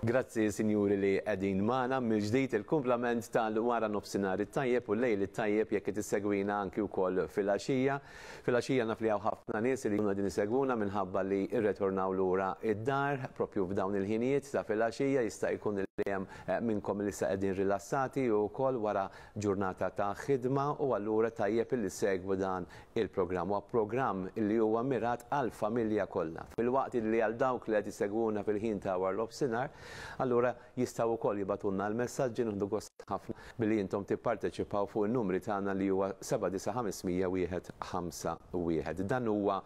Grazzi sinjuri li qegħdin magħna mill-ġdid il-kumplament tal-wara nofsinhar it-tajjeb u l-lejl it-tajjeb jekk qed issegwina anki wkoll filgħaxija. Filgħaxija naf li hawn ħafna nies li jkunu qegħdin isegwuna minħabba li rretornaw lura d-dar propju f'dawn il-ħinijiet ta' filgħaxija jista' jkun li hemm eh, minnkom li issa qegħdin rilassati wkoll wara ġurnata ta' ħidma u allura tajjeb illi ssegwu dan il-programm. Huwa programm li huwa mirat għall-familja kollha. Filwaqt li għal dawk li qed isegwuna fil-ħin ta' warnofsinhar, allura jistgħu wkoll jibagħtulna l-messaġġi nieħdu gost ħafna billi intom tipparteċipaw fuq in-numri tagħna li huwa 79 500 151. Dan huwa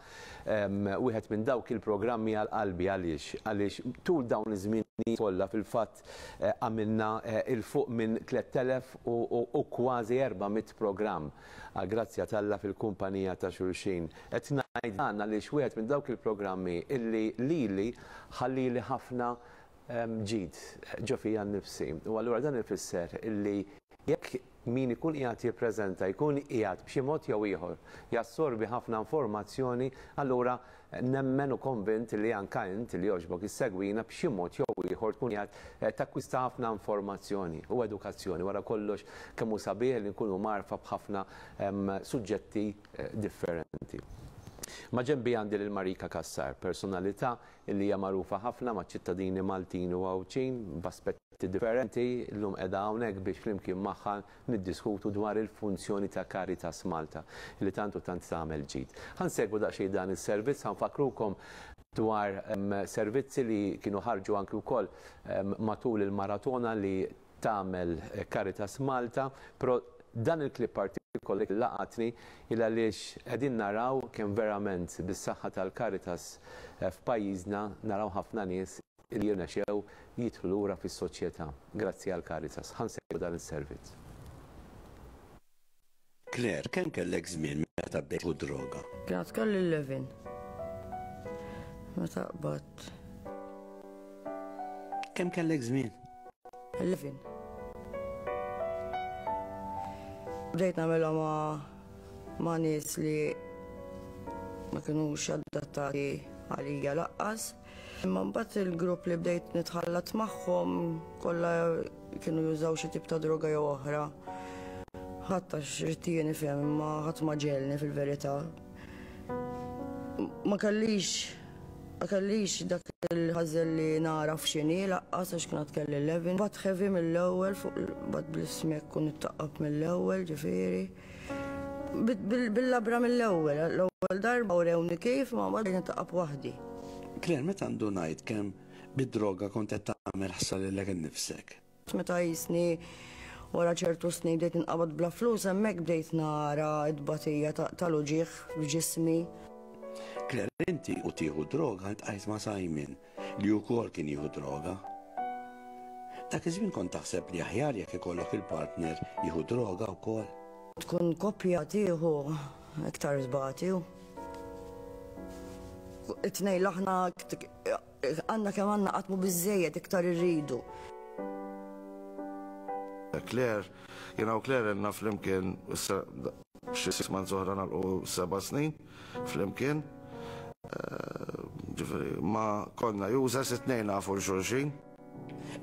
wieħed minn dawk il-programmi għal qalbi għaliex għaliex tul dawn iż-żminijiet kollha fil-fatt għamilna 'il fuq minn 3000 u kważi 400 programm għall-grazzja t'Alla fil-kumpanija ta' xulxin. Qed ngħid dan għaliex wieħed minn dawk il-programmi illi lili ħallieli ħafna ġid ġo fija nnifsi. U allura dan ifisser illi jekk min ikun qiegħed jippreżenta jkun qiegħed b'xi mod jew ieħor jassorbi ħafna informazzjoni, allura Nemmen u konvint li anka int li jogħġbok issegwina b'xi mod jew ieħor tkun qiegħed takkwista ħafna informazzjoni u edukazzjoni. Wara kollox kemm hu sabiħ li nkunu mgħarrfa b'ħafna suġġetti differenti. Maġenbi għandi lil Marika Cassar, personalità li hija magħrufa ħafna maċ-ċittadini Maltin u Għawdxin b'aspetti differenti. Illum qiegħda hawnhekk biex flimkien magħha niddiskutu dwar il-funzjoni ta' Caritas Malta li tant u tant tagħmel ġid. Ħa nsegwu daqsxejn dan is-servizz, ħa nfakkrukom dwar servizzi li kienu ħarġu anki wkoll matul il-maratona li tagħmel Caritas Malta, però dan il-clip partikolari laqatni il għaliex qegħdin naraw kemm verament bis-saħħa tal-Caritas f'pajjiżna naraw ħafna nies li jirnexxew jidħlu lura fis-soċjetà grazzi għall-Caritas. Ħa nsegwu dan is-servizz. Claire, kemm kellek żmien meta bdejt tieħu d-droga? Kien għad kelli 11 meta qbadt. Kemm kellek żmien? 11. Bdejt nagħmilha ma' ma' nies li ma kinux adattati għalija laqqas. Imma mbagħad il-grupp li bdejt nitħallat magħhom kollha kienu jużaw xi tip ta' droga jew oħra. Ħadd għax ridt jien nifhem imma ħadd ma ġegħelni fil-verità. Ma kellix ma kellix dak il-ħażel li nagħraf x'inhi laqqas għax kien għad kelli 11. Mbagħad heavy mill-ewwel fuq mbagħad bl-ismek u nittaqqab mill-ewwel ġifieri. Bil-labra mill-ewwel, l-ewwel darba urewni kif ma mbagħad bdejt nitqab waħdi. Claire, meta ndunajt kemm bid-droga kont qed tagħmel ħsara lilek innifsek? Meta qisni wara ċertu snin bdejt ninqabad bla flus hemmhekk bdejt nara t-tbatija tal-uġigħ f'ġismi. Claire, inti u tieħu d-droga ltqajt ma' Simon. li wkoll kien jieħu droga. Dak iż-żmien kont taħseb li aħjar jekk ikollok il-partner jieħu droga wkoll? Tkun koppja tieħu iktar tbati u it-tnejn l-aħna għandna kemm għandna qatt mhu biżżejjed iktar irridu. Claire, jiena u Claire ilna flimkien issa xi six months oħra nagħlqu seba' snin. Flimkien, ġifieri, ma konna users it-tnejn nafu 'l xulxin.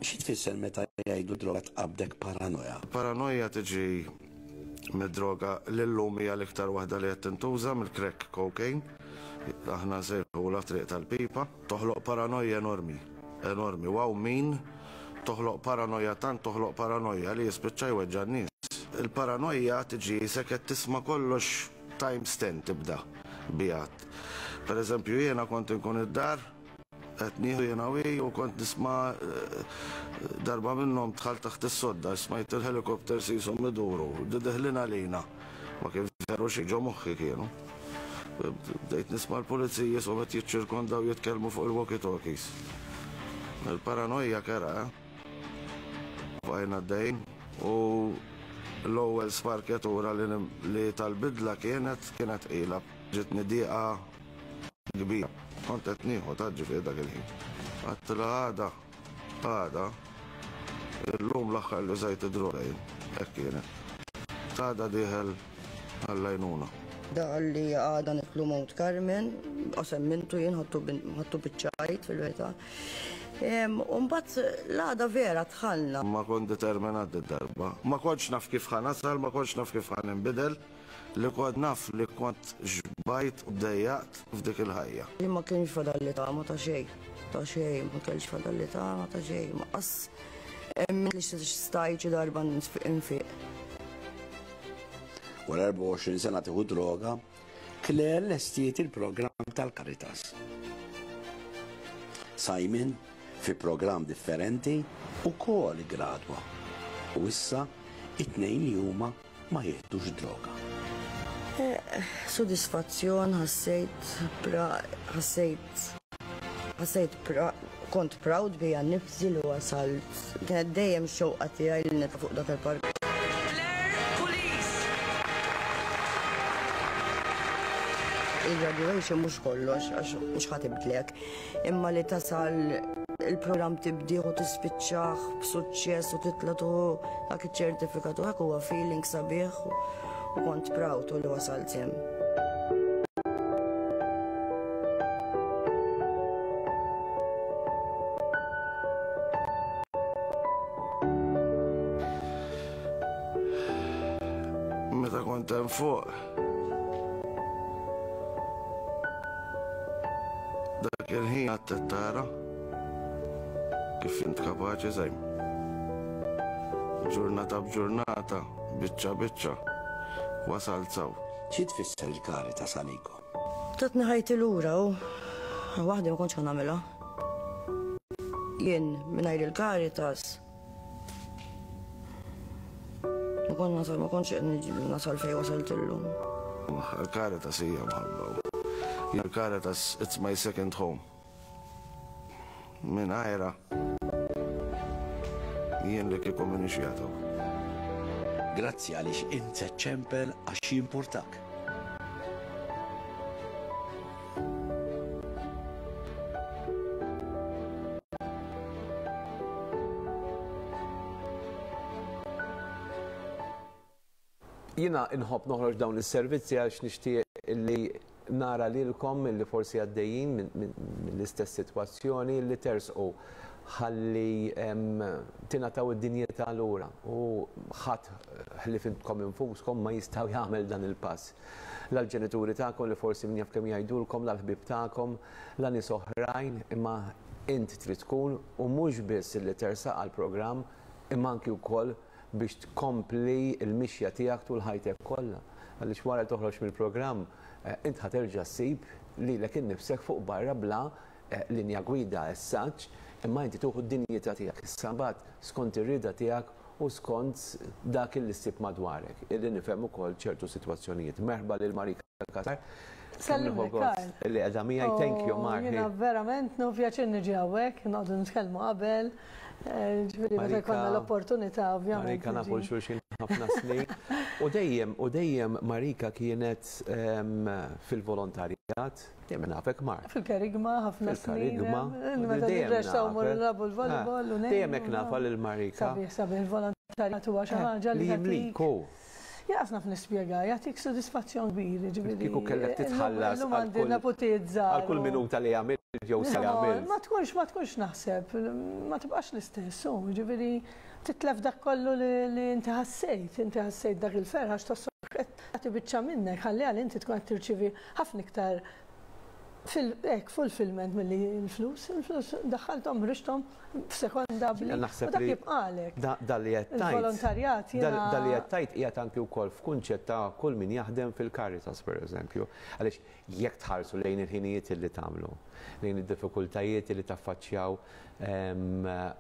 Xi tfisser meta jgħidu droga tqabbdek paranoja? Paranoja tiġi mid-droga li llum hija l-iktar waħda li qed tintuża, mill-crack cocaine. Aħna nsejħulha triq tal-pipa. Toħloq paranoja enormi, enormi. U hawn min toħloq paranoja tant toħloq paranoja li jispiċċa jweġġa' n-nies. Il-paranoja tiġi qisek qed tisma' kollox Times ten tibda biha. Per eżempju jiena kont inkun id-dar qed nieħu jiena u hi u kont nisma' darba minnhom dħalt taħt is-sodda smajt il-helicopters qishom iduru, deħlin għalina. Ma kien veru xejn, ġo moħħi kienu. Bdejt nisma' l-pulizija qishom qed jiċċirkondaw jitkellmu fuq il-walkie-talkies. Il-paranoja kerha, eh? Bqajna għaddejjin u l-ewwel sparkjatura li tal-bidla kienet kienet tqila. Ġietni dieqa kbira. Kont qed nieħu ta' ġifieri dak il-ħin. Għedtilha għada, għada, illum l-aħħar li użajt id-droga jien. Hekk kienet. Għada dieħel għall-għajnuna. Da qalli għada nidħlu Mount Carmen, qasem mintu jien ħadtu biċ-ċajt fil-verità. U mbagħad l-għada vera dħalna. Ma kont determinat did-darba. Ma kontx naf kif ħa nasal, ma kontx naf kif ħa ninbidel, li kont naf li kont xbajt u ddejjaqt f'dik il-ħajja. Li ma kienx fadalli tama ta' xejn, ta' xejn, ma kellx fadalli tama ta' xejn, ma qas emmint li stajt xi darba nfiq. Wara 24 sena tieħu droga, Claire lestiet il-programm tal-Caritas. Simon, fi programm differenti, ukoll iggradwa u issa it-tnejn li huma ma jieħdux droga. Sodisfazzjon ħassejt, ħassejt, ħassejt kont proud bija nnifsi li wasalt. Kienet dejjem x-xewqa tiegħi li nitla' fuq dak il-palk. Claire Pulis. Il-graduation mhux kollox għax mhux ħa tibdlek, imma li tasal il-programm tibdih u tispiċċah b'suċċess u titla' tieħu dak iċ-ċertifikat u hekk huwa feeling sabiħ u kont proud u li wasalt hemm. Meta kont hemm fuq, dak il-ħin għad tara kif int kapaċi żejm. Ġurnata b'ġurnata, biċċa biċċa, wasalt saw. Xi tfisser il-Caritas għalikom? Tatni ħajti lura u waħdi ma kontx ħa nagħmilha. Jien mingħajr il-Caritas ma kont nasal, ma kontx qed nasal fejn wasalt illum. Il-Caritas hija mħabba. Il-Caritas it's my second home. Mingħajrha jien li kieku m'iniex jagħtu. Grazzi għaliex int se ċċempel għax jimpurtak. Jiena nħobb noħroġ dawn is-servizzi għax nixtieq li nara lilkom li forsi għaddejjin mill-istess sitwazzjoni li tersqu ħalli tingħataw id-dinjità lura u ħadd ħlief intkom infuskom ma jistgħu jagħmel dan il-pass. La l-ġenituri tagħkom li forsi min jaf kemm jgħidulkom, la l-ħbieb tagħkom, la nies oħrajn, imma int trid tkun u mhux biss li tersaq għall-programm imma anki wkoll biex tkompli l-mixja tiegħek tul ħajtek kollha. Għaliex wara li toħroġ mill-programm, int ħa terġa' ssib lilek innifsek fuq barra bla linja gwida as such, imma inti tieħu d-dinjità tiegħek issa mbagħad skont ir-rieda tiegħek u skont dak illi ssib madwarek, illi nifhem ukoll ċertu sitwazzjonijiet. Merħba lil Marika Cassar. Kemm nieħu gost li qiegħda miegħi. Thank you, Mar. Jiena verament nieħu pjaċir niġi hawnhekk, noqogħdu nitkellmu qabel. Ġifieri meta jkollna l-opportunità ovvjament. Marika nafu xulxin ħafna snin. U dejjem, u dejjem Marika kienet fil-volontarjat, dejjem nafek Mar. Fil-kerigma ħafna snin. Fil-kerigma. Meta nirrexxaw morru nilagħbu l-volleyball u Dejjem hekk nafha lil Marika. Sabiħ, sabiħ il-volontarjat huwa xi ħaġa li jimlik hu. Jaqas naf nispjega, jagħtik sodisfazzjon kbir, jiġifieri. Kieku kellek titħallas Illum għandi neputijiet żgħar. Għal kull minuta li għamilt jew se għamilt. Ma tkunx, ma tkunx naħseb, ma tibqax l-istess, hu, jiġifieri titlef dak kollu li inti ħassejt, inti ħassejt dak il-ferħ għax tħossok qed tagħti biċċa minnek, ħalli għal inti tkun qed tirċievi ħafna iktar fil, hekk, fulfillment milli l-flus. Il-flus daħħalthom, ħriġthom f'sekonda bli. U dak jibqagħlek. Dan li qed tgħid. Il-volontarjat jiena. Dan li qed tgħid qiegħed anki wkoll f'kunċett ta' kull min jaħdem fil-Caritas pereżempju. Għaliex jekk tħarsu lejn il-ħinijiet li tagħmlu, lejn id-diffikultajiet li taffaċċjaw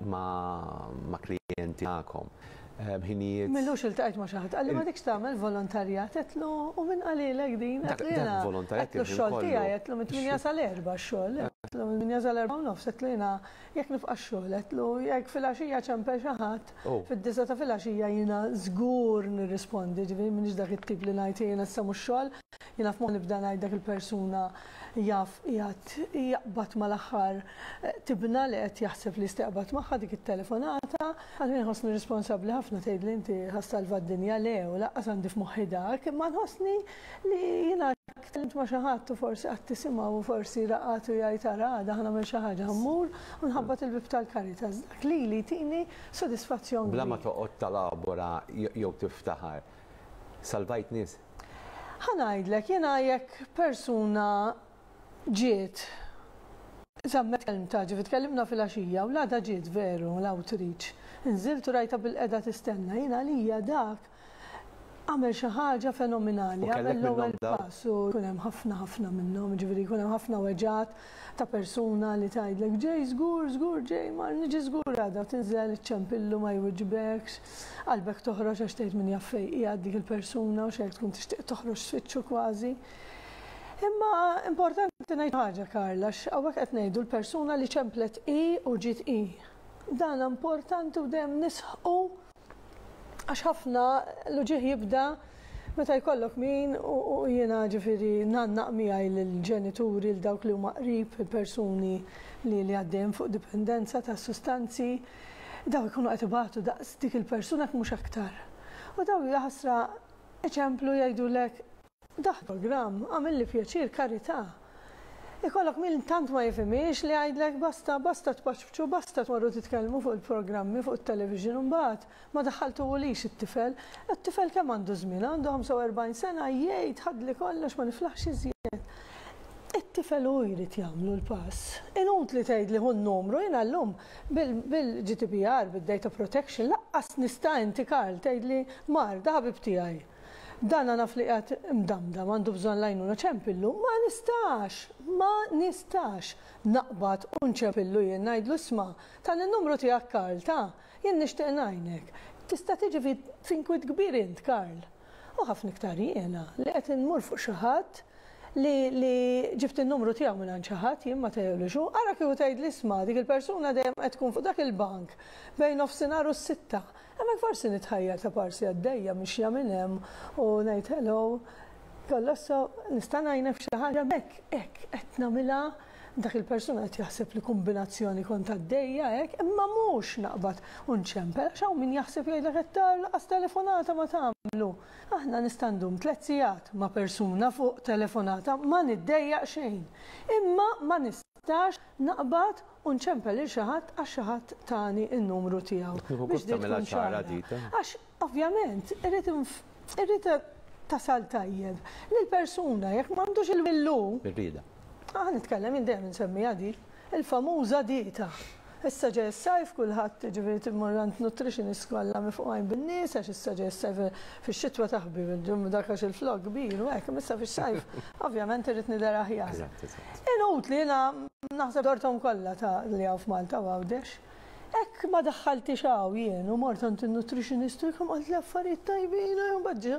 ma' klijenti tagħkom, ħinijiet. M'ilux iltqajt ma' xi ħadd, qalli m'għadekx tagħmel volontarjat, għedtlu u min qalilek din? Għedtlu jiena. Għedtlu x-xogħol tiegħi, għedtlu mit-tmienja sal-erbgħa x-xogħol, għedtlu mit-tmienja sal-erbgħa u nofs, għedtlu jiena jekk nibqa' x-xogħol, għedtlu jekk filgħaxija ċempel xi ħadd, fid-disgħa ta' filgħaxija jiena żgur nirrispondi, ġifieri m'iniex dak it-tip li ngħid jiena issa mhux xogħol, jiena f'moħħi nibda ngħid dak il-persuna jaf qiegħed jaqbad mal-aħħar tibna li qed jaħseb li jista' jaqbad magħha dik it-telefonata. Għalfejn inħossni responsabbli ħafna tgħidli inti ħa ssalva d-dinja, le u lanqas għandi f'moħħi dak, imma nħossni li jiena. jekk tkellimt ma' xi ħadd u forsi qatt tisimgħu u forsi raqad u jgħid ara għada ħa nagħmel xi ħaġa, ħa mmur u nħabbat il-bieb tal-Caritas. Dak lili jtini sodisfazzjon Bla ma kbir. toqgħod talabora jew tiftaħar, salvajt nies? Ħa ngħidlek, jiena jekk persuna ġiet, żammet kelmtha, ġifieri tkellimna filgħaxija u l-għada ġiet veru l-outreach. Inżilt u rajtha bilqiegħda tistenna. Jien għalija dak għamel xi ħaġa fenomenali, U kellek għamel l-ewwel minnhom daw? pass u jkun hemm ħafna ħafna minnhom, ġifieri jkun hemm ħafna weġgħat ta' persuna li tgħidlek ġej żgur, żgur ġej, mar niġi żgur għada u tinżel iċċempillu ma jwiġbekx, qalbek toħroġ għax tgħid min jaf fejn qiegħed dik il-persuna u xejn tkun tixtieq toħroġ tfittxu kważi. Imma importanti ngħid ħaġa Karl, għax hawnhekk qed ngħidu l-persuna li ċemplet hi u ġiet hi. Dan importanti u dejjem nisħqu għax ħafna l-uġigħ jibda meta jkollok min u jiena ġifieri ngħannaq miegħi lill-ġenituri, l dawk li huma qrib, il-persuni li li għaddejjem fuq dipendenza ta' sustanzi, daw ikunu qed ibatu daqs dik il-persuna jekk mhux aktar. U daw jaħasra iċemplu jgħidulek daħ programm, għamilli pjaċir, karità. Ikollok min tant ma jifhimhiex li jgħidlek basta, basta tpaċpċu, basta tmorru titkellmu fuq il-programmi, fuq it-television, u mbagħad ma daħħaltuhulix it-tifel. It-tifel kemm għandu żmien? Għandu 45 sena, jgħid ħadli kollox ma niflaħx iżjed. It-tifel hu jrid jagħmlu l-pass. Inutli tgħidli hu n-numru, jiena llum bil-GDPR, bil-Data Protection, lanqas nista' inti Karl tgħidli mar, da ħabib tiegħi. Dana naf li qiegħed imdamdam, għandu bżonn l-għajnuna, ċempillu, ma nistax, ma nistax naqbad u nċempillu jien ngħidlu isma' tan in-numru tiegħek Karl, ta' jien nixtieq ngħinek. Tista' tiġi f'inkwiet kbir int Karl. U ħafna iktar jiena li qed inmur fuq xi ħadd li li ġibt in-numru tiegħu minn għand xi ħadd jien ma tgħidlux hu, ara kieku tgħidli isma' dik il-persuna dejjem qed tkun fuq dak il-bank bejn nofsinhar u s-sitta. Hemmhekk forsi nitħajjar ta' parsi għaddejja mixja minn hemm u ngħid hello, kollox so nista' ngħinek f'xi ħaġa hekk hekk qed nagħmilha dak il-persuna qed jaħseb li kombinazzjoni kont għaddejja hekk, imma mhux naqbad u nċempel għax hawn min jaħseb jgħidlek qed tara lanqas telefonata ma tagħmlu. Aħna nista' ndum tliet sigħat ma' persuna fuq telefonata ma niddejjaq xejn. Imma ma nistax naqbad u nċempel lil xi ħadd għax xi ħadd tani n-numru tiegħu. Nieħu Biex gost di tagħmilha tkun ċara ċara. di, ta'. Għax ovvjament irrid irrid tasal tajjeb lil persuna jekk m'għandux il-will. Ir-rieda. Ah, nitkellem jien dejjem insemmiha di, il-famuża dieta. Issa ġej is-sajf kulħadd ġifieri timmur għand nutritionist kollha mifqugħin bin-nies għax issa ġej is-sajf fix-xitwa taħbi bil-ġum dak għax il-flok kbir u hekk, imma issa fix-sajf ovvjament irrid nidher aħjar. Eżatt, eżatt. Inutli jiena naħseb dorthom kollha ta' li hawn f'Malta u Għawdex. Hekk ma daħħaltix hawn jien u mort għand in-nutritionist u jkun qalt li affarijiet tajbin u mbagħad ġie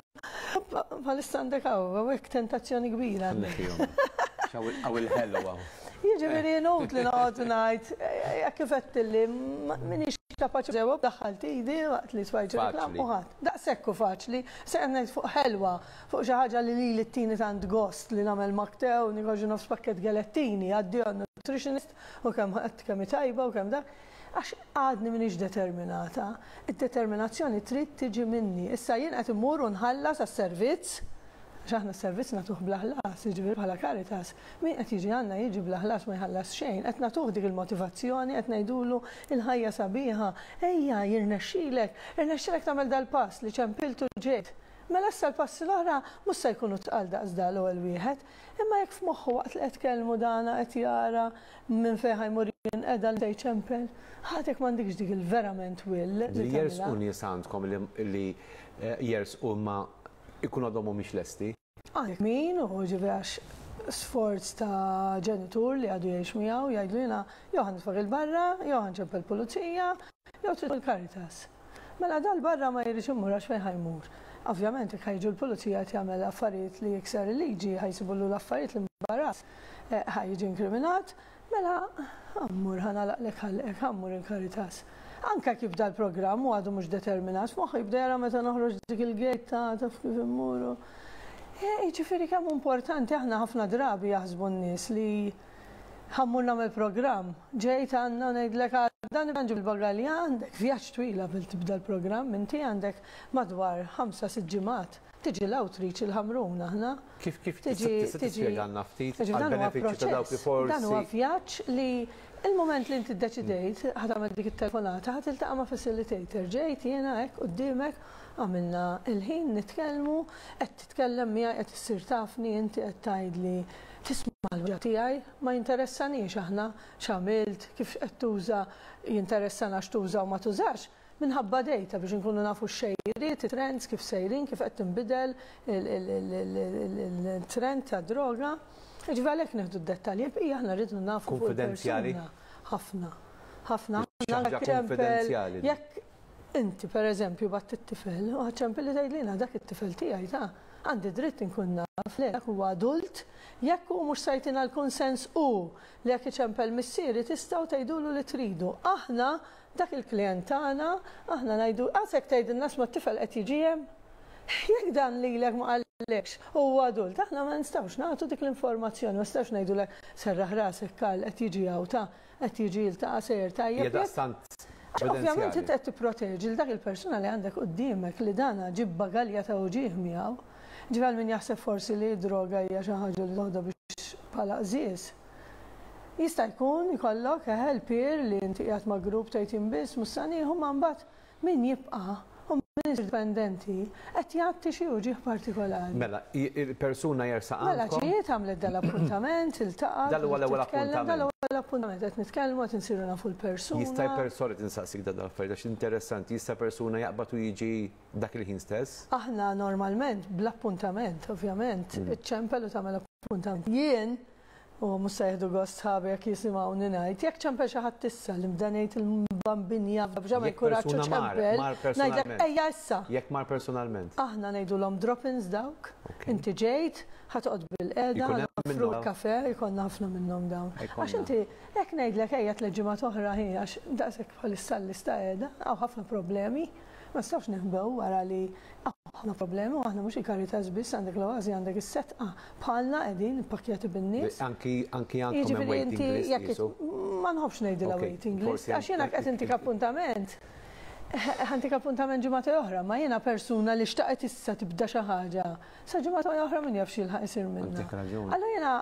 bħalissa għandek hawn, hawnhekk tentazzjoni kbira għandek. Hawn il-ħelu hawn. Jiġifieri inutli noqgħod ngħid jekk kif għedtilli m'iniex kapaċi ġewwa daħħalt idi waqt li tfajt reklam Faċli. u ħadd. Daqshekk hu faċli. Se qed ngħid fuq ħelwa, fuq xi ħaġa li lili ttini tant gost li nagħmel maktew, nieħu nofs pakkett galettini, għaddi għand nutritionist u kemm qed kemm hi tajba u kemm dak. Għax għadni m'iniex determinata. Id-determinazzjoni trid tiġi minni. Issa jien qed immur u nħallas għas-servizz, għax aħna s-servizz nagħtuh bla ħlas, jiġifieri bħala Caritas. Min qed jiġi għandna jiġi bla ħlas ma jħallas xejn, qed nagħtuh dik il-motivazzjoni, qed ngħidulu il-ħajja sabiħa, ejja jirnexxilek, irnexxilek tagħmel dal-pass li ċempiltu ġejt. Mela issa l-passi l-oħra mhux se jkunu tqal daqs da l-ewwel wieħed, imma jekk f'moħħu waqt li qed kellmu dana qed jara minn fejn ħa jmur jinqeda li jċempel, ħadd m'għandikx dik il-verament will li Li jersqu tagħmilha. nies għandkom li jersqu ma ikunu għadhom mhumiex lesti. Għandek min u ġifieri għax sforz ta' ġenitur li għadu jgħix miegħu jgħidlu jiena jew ħa nitfgħek 'il barra, jew ħa nċempel pulizija, jew trid il-Caritas. Mela dal barra ma jridx imur għax fejn ħa jmur. Ovvjament jekk ħa jiġu l-pulizija qed jagħmel affarijiet li jikser il-liġi, ħa jsibulu l-affarijiet li mbarazz, ħa jiġi inkriminat, mela ħa mmur ħa nagħlaqlek ħalqek, ħa mmur il-Caritas. Anka kif dal-programm u għadu mhux determinat, f'moħħu jibda jara meta noħroġ dik il-gate ta' taf kif immuru. Jiġifieri kemm importanti aħna ħafna drabi jaħsbu n-nies li ħa mmur nagħmel programm, ġejt għandna ngħidlek Għada nibda nġib il-bagalja għandek vjaġġ twil qabel tibda l-programm, inti għandek madwar 5-6 ġimgħat. Tiġi l-outreach il-Ħamrun aħna. Kif kif tista' tispjegalna ftit għall-benefiċċju ta' dawk li forsi. Dan huwa vjaġġ li il-mument li inti ddeċidejt ħa tagħmel dik it-telefonata ħa tiltaqa' ma' facilitator. Ġejt jiena hekk quddiemek għamilna l-ħin nitkellmu, qed titkellem miegħi qed issir tafni inti qed tgħidli tisma' l-weġgħa tiegħi, ma jinteressanix aħna x'għamilt, kif qed tuża, jinteressana x'tuża u ma tużax, minħabba data biex inkunu nafu x-xejriet, it-trends, kif sejrin, kif qed tinbidel il-trend tad-droga. Jiġifieri għalhekk nieħdu d-dettalji, il-bqija aħna rridu nafu fuq il-persuna. Ħafna. Ħafna. Ħaġa kunfidenzjali. Jekk inti pereżempju bgħatt it-tifel u ħa ċempel li tgħidli jiena dak it-tifel tiegħi ta' għandi dritt inkun naf le dak huwa adult, jekk hu mhux se jtina l-kunsens hu Li jekk iċempel missieri tistgħu tgħidulu li tridu. Aħna, dak il-klijent tagħna, aħna ngħidu, għasek tgħidilna isma' t-tifel qed jiġi hemm? Jekk dan lilek ma qallekx u huwa adult, aħna ma nistgħux nagħtu dik l-informazzjoni, ma nistgħux ngħidulek serraħ rasek Karl qed jiġi hawn ta' qed jiġi jiltaqa' sejjer tajjeb. Hija daqstant Għax ovvjament inti qed tipproteġi lil dak il-persuna li għandek quddiemek li dana ġie b'bagalja ta' uġigħ miegħu. Ġifieri għal min jaħseb forsi li d-droga hija xi ħaġa li toħodha biex bħala qżież. Jista' jkun ikollok, eħe, l-peer li inti qiegħed ma' grupp tgħid jien biss mhux sa nieħu ma mbagħad min jibqa' u min isir dipendenti qed jgħatti xi uġigħ partikolari. Mela, il-persuna jersaq għandkom. Mela ġiet, għamlet dal-appuntament, iltaqgħet. Dal huwa l-ewwel appuntament. Dal huwa l-appuntament qed nitkellmu qed insiru nafu l-persuna. Jista' sorry tinsaqsik dan l-affarijiet għax interessanti, jista' persuna jaqbad u jiġi dak il-ħin stess? Aħna normalment bl-appuntament, ovvjament, iċċempel u tagħmel appuntament. Jien, u mhux se jieħdu gost sħabi jekk jisimgħuni ngħid, jekk ċempel xi ħadd issa li bda ngħid il-bambin jaf biex jagħmel kuraġġ u ċempel, ngħidlek ejja issa. Jekk mar personalment. Aħna ngħidulhom drop-ins dawk, inti ġejt, ħa toqgħod bilqiegħda, ħa noffruk kafè, ikollna ħafna minnhom dawn. Għax inti jekk ngħidlek ejja tlett ġimgħat oħra hi għax daqshekk bħalissa l-lista qiegħda, hawn ħafna problemi. Ma nistgħux neħbew wara li hawn ħafna problemi u aħna mhux il-Caritas biss, għandek l-Oasi, għandek is-Setqa, bħalna qegħdin ippakkjati bin-nies. Anki anki għandkom hemm waiting list qisu. Ma nħobbx ngħidilha waiting list għax jiena qed intik appuntament. Ħa ntik appuntament ġimgħa oħra, ma jiena persuna li xtaqet issa tibda xi ħaġa. Sa ġimgħa oħra min jaf x'jilħaq isir minnha. Allura jiena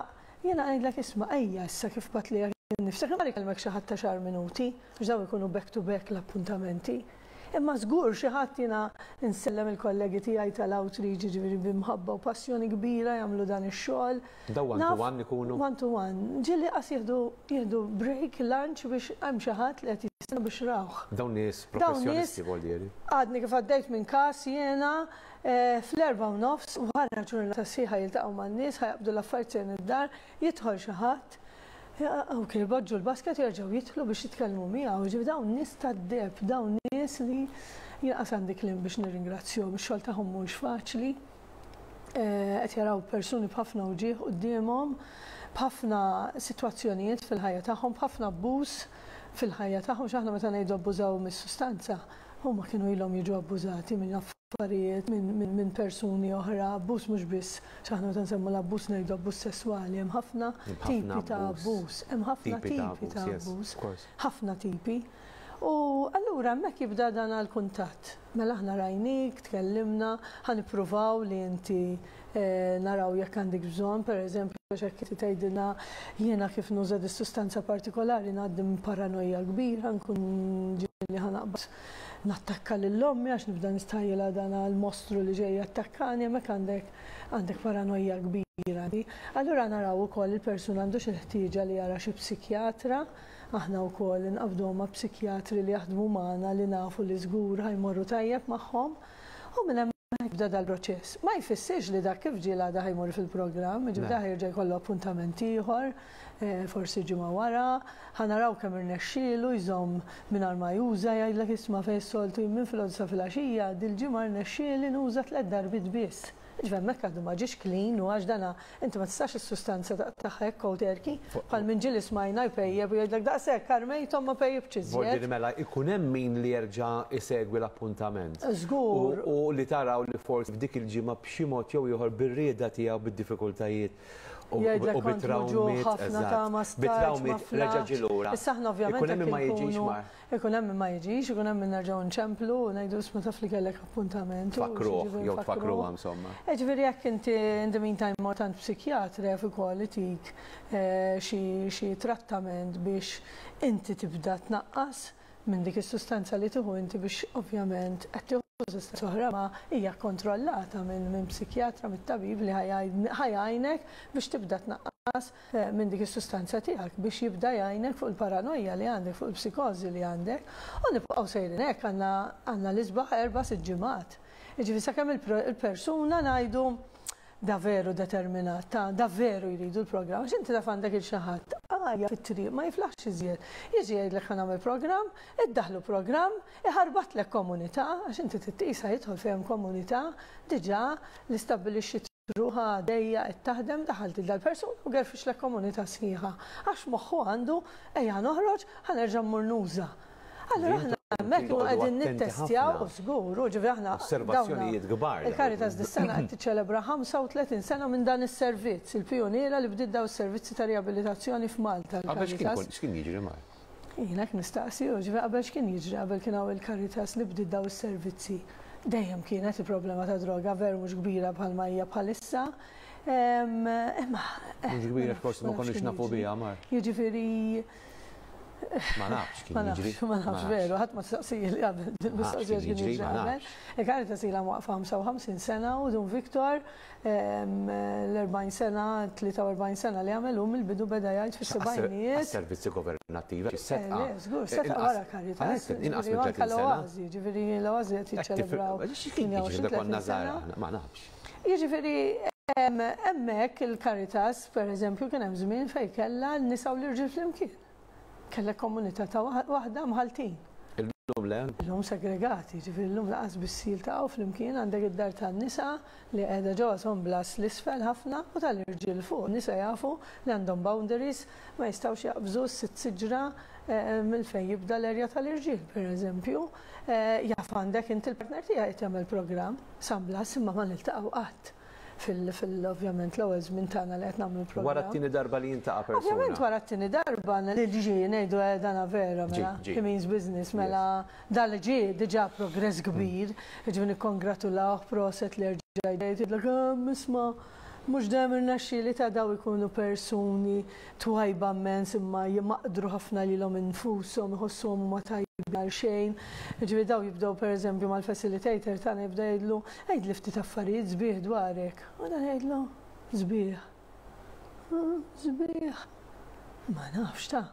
jiena ngħidlek isma' ejja issa kif bgħatt lilek innifsek, imma ikellmek xi ħadd ta' xahar minuti, għax dawn ikunu back to back l-appuntamenti. Imma żgur xi ħadd jiena nsellem il-kollegi tiegħi tal-outreach jiġifieri bi mħabba u passjoni kbira jagħmlu dan ix-xogħol. Dawn one to one ikunu? One to one. Ġieli qas jieħdu jieħdu break, lunch biex hemm xi ħadd li qed jistenna biex rawh. Dawn nies professjonisti voldieri. Għadni kif għaddejt minn każ jiena fl-4:30 wara ġurnata sħiħa jiltaqgħu man-nies ħa jaqbdu l-affarijiet sejrin id-dar, jidħol xi ħadd Ok, jpoġġu l-basket u jerġgħu jidħlu biex jitkellmu miegħu. Jiġifieri dawn nies tad-deheb, dawn nies li jien qas għandi kliem biex nirringrazzjahom. Ix-xogħol tagħhom mhuwiex faċli. Qed jaraw persuni b'ħafna uġigħ quddiemhom, b'ħafna sitwazzjonijiet fil-ħajja tagħhom, b'ħafna abbuż fil-ħajja tagħhom. X'aħna meta ngħidu abbużaw mis-sustanza, huma kienu ilhom jiġu abbużati minn affarijiet minn persuni oħra, abbuż mhux biss, x'aħna meta nsemmu l-abbuż ngħidu abbuż sesswali, hemm ħafna tipi ta' abbuż, hemm ħafna tipi ta' abbuż, ħafna tipi. U allura hemmhekk jibda dan għall-kuntatt. Mela aħna rajnik, tkellimna, ħa nippruvaw li inti naraw jekk għandek bżonn, pereżempju, għax hekk inti tgħidilna jiena kif nuża dis-sustanza partikolari ngħaddi minn paranoja kbira, nkun ġieli ħa naqbad nattakka lil ommi għax nibda nistħajjilha dan l-mostru li ġej jattakkani, hemmhekk għandek għandek paranoja kbira. Allura naraw ukoll il-persuna għandux il-ħtieġa li jara xi psikjatra, aħna wkoll inqabduhom ma' psikjatri li jaħdmu magħna li nafu li żgur ħa jmorru tajjeb magħhom u minn hemmhekk jibda dal-proċess. Ma jfissirx li dak kif ġie l-għada ħa jmur fil-programm, jiġifieri dak jerġa' jkollu appuntament ieħor, forsi ġimgħa wara, ħa naraw kemm irnexxielu jżomm mingħajr ma juża, jgħidlek isma' fejn is-soltu jien minn filgħodu sa filgħaxija, dil-ġimgħa rnexxieli nuża tlett darbiet biss. Jiġifieri hemmhekk għadu ma ġiex clean u għax dana inti ma tistax is-sustanza taqtagħha hekk cold turkey, bħal min ġieli smajna jpejjep u jgħidlek daqshekk armejthom ma pejjiptx iżjed. Vuol dire mela jkun hemm min li jerġa' jsegwi l-appuntament. Żgur. U li taraw li forsi f'dik il-ġimgħa b'xi mod jew ieħor bir-rieda tiegħu bid-diffikultajiet. Jgħidlek kont muġugħ ħafna ta' ma stajtx, ma flaħtx. Issa aħna ovvjament Ikun hemm min ma jiġix mar. Ikun hemm min ma jiġix, ikun hemm min nerġgħu nċemplu u ngħidu isma' taf li kellek appuntament. Tfakkruh jew tfakkruha insomma. Jiġifieri jekk inti in the meantime mort għand psikjatra jaf ukoll itik xi trattament biex inti tibda tnaqqas minn dik is-sustanza li tieħu inti biex ovvjament qed tieħu sustanza oħra ma hija kkontrollata minn psikjatra, mit-tabib li ħa jgħinek biex tibda tnaqqas minn dik is-sustanza tiegħek biex jibda jgħinek fuq il-paranoja li għandek, fuq il-psikożi li għandek. U nibqgħu sejrin hekk għandna għandna l-isbaħ erba' sitt ġimgħat. Jiġifieri sakemm il-persuna ngħidu Da veru determinat, ta' da veru jridu l-programm, għax inti taf għandek il xi ħadd għajja fit-triq ma jiflaħx iżjed. Jiġi jgħidlek ħa nagħmel programm, iddaħħlu programm, iħarbatlek komunità, għax inti trid tqisha jidħol fejn hemm komunità diġà li stabbilixxiet ruħha għaddejja qed taħdem, daħħalt lil dal-persuna u gerfixlek komunità sħiħa. Għax moħħu għandu ejja noħroġ, ħa nerġa' mmur nuża. Allura aħna hemmhekk nkunu qegħdin nittestjaw u żgur, u ġifieri aħna Osservazzjonijiet kbar. Il-Caritas dis-sena qed tiċċelebra 35 sena minn dan is-servizz, il-pijuniera li bdiet dawn is-servizzi ta' riabilitazzjoni f'Malta. Qabel x'kien jiġri Mar? Jien hekk nistaqsi, u ġifieri qabel x'kien jiġri qabel kien hawn il-Caritas li bdiet dawn is-servizzi. Dejjem kienet il-problema ta' droga veru mhux kbira bħalma hija bħalissa. Imma. Mhux kbira forsi ma konniex nafu biha Mar. Jiġifieri Ma nafx kien jiġri. Ma nafx veru, ħadd ma saqsija li qabel mistoqsija x'kien jiġri qabel. Il-Caritas ilha mwaqfa 55 sena u Dun Victor l-40 sena, 43 sena li għamel hu mill-bidu beda jgħid fis-sebgħinijiet. Servizzi governattivi, setqa. Le, żgur, setqa wara Caritas. Inqas minn 30 sena. L-Oażi, ġifieri l-Oażi qed jiċċelebraw. X'kien jiġri konna żgħar ma nafx. Jiġifieri hemmhekk il-Caritas, pereżempju, kien hemm żmien fejn kellha n-nisa u l-irġiel flimkien. Kellek komunità ta' waħda mħalltin. Illum le? Illum segregati, jiġifieri llum lanqas biss jiltaqgħu flimkien, għandek id-dar tan-nisa li qiegħda ġewwa San Blas 'l isfel ħafna u tal-irġiel fuq. In-nisa jafu li għandhom boundaries, ma jistgħux jaqbżu s-sitt siġra minn fejn jibda l-area tal-irġiel, pereżempju. Jaf għandek inti l-partner tiegħi qed jagħmel programm San Blas imma ma niltaqgħu qatt. fil-ovvjament l-ewwel żmien tagħna li qed nagħmlu l-programm. Wara t-tieni darba li jiltaqa' persuna. Ovvjament wara t-tieni darba li ġie ngħidu eh dana vera mela he means business mela dan li ġie diġà progress kbir, jiġifieri nikkongratulawh proset li rġa' jgħidlek ehm isma' mhux dejjem irnexxieli ta' daw ikunu persuni twajba mmens imma jmaqdru ħafna lilhom infushom, iħossuhom huma tajbin għal xejn. Jiġifieri dawn jibdew pereżempju mal-facilitator tagħna jibda jgħidlu, għidli ftit affarijiet sbieħ dwarek. U dan jgħidlu, sbieħ. Sbieħ. Ma nafx ta'.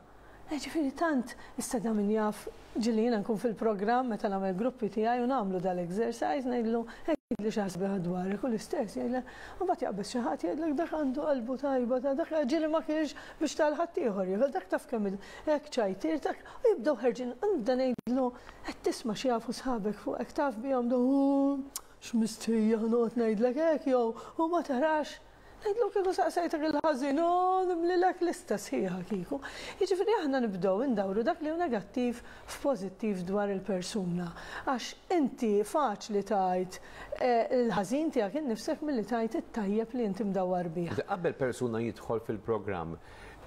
Jiġifieri tant issa da min jaf ġieli jiena nkun fil-programm meta nagħmel gruppi tiegħi u nagħmlu dal-exercise ngħidlu għidli xi ħaġa sabiħa dwarek u l-istess jgħidlek u mbagħad jaqbeż xi ħadd jgħidlek dak għandu qalbu tajba ta' dak ġieli ma kienx biex tal ħaddieħor jieħu dak taf kemm hekk ċajtier dak u jibdew ħerġin u nibda ngħidlu qed tisma' x'jafu sħabek fuqek taf bihom x'mistħija noqgħod ngħidlek hekk jew u ma tarax Ngħidlu kieku saqsejtek il-ħażin, u nimlilek lista sħiħa kieku. Jiġifieri aħna nibdew indawru dak li hu negattiv f'pożittiv dwar il-persuna. Għax inti faċli tgħid il-ħażin tiegħek innifsek milli tgħid it-tajjeb li inti mdawwar bih. Qabel persuna jidħol fil-programm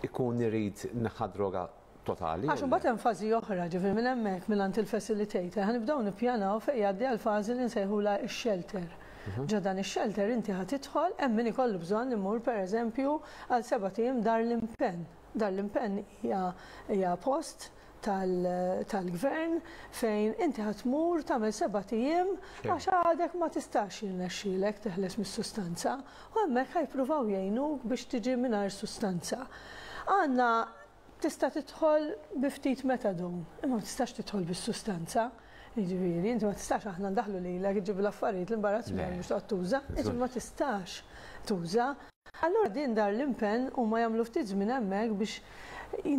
ikun irid neħħa droga totali. Għax imbagħad hemm fażi oħra, ġifieri minn hemmhekk mingħand il-facilitator ħa nibdew nippjanaw fejn jgħaddi għall-fażi li nsejħulha x-shelter. Ġo dan ix-shelter inti ħa tidħol, hemm min ikollu bżonn imur pereżempju għal sebat ijiem Dar l-Impenn. Dar l-Impenn hija hija post tal-gvern fejn inti ħa tmur tagħmel sebat ijiem għax għadek ma tistax jirnexxielek teħles mis-sustanza u hemmhekk ħa jippruvaw jgħinuk biex tiġi mingħajr sustanza. Għandna Tista' tidħol bi ftit methadone, imma ma tistax tidħol bis-sustanza. Jiġifieri, inti ma tistax aħna ndaħħlu lilek iġġib l-affarijiet l-imbarazz miegħek biex toqgħod tuża, jiġifieri ma tistax tuża. Allura din dar l-impenn huma jagħmlu ftit żmien hemmhekk biex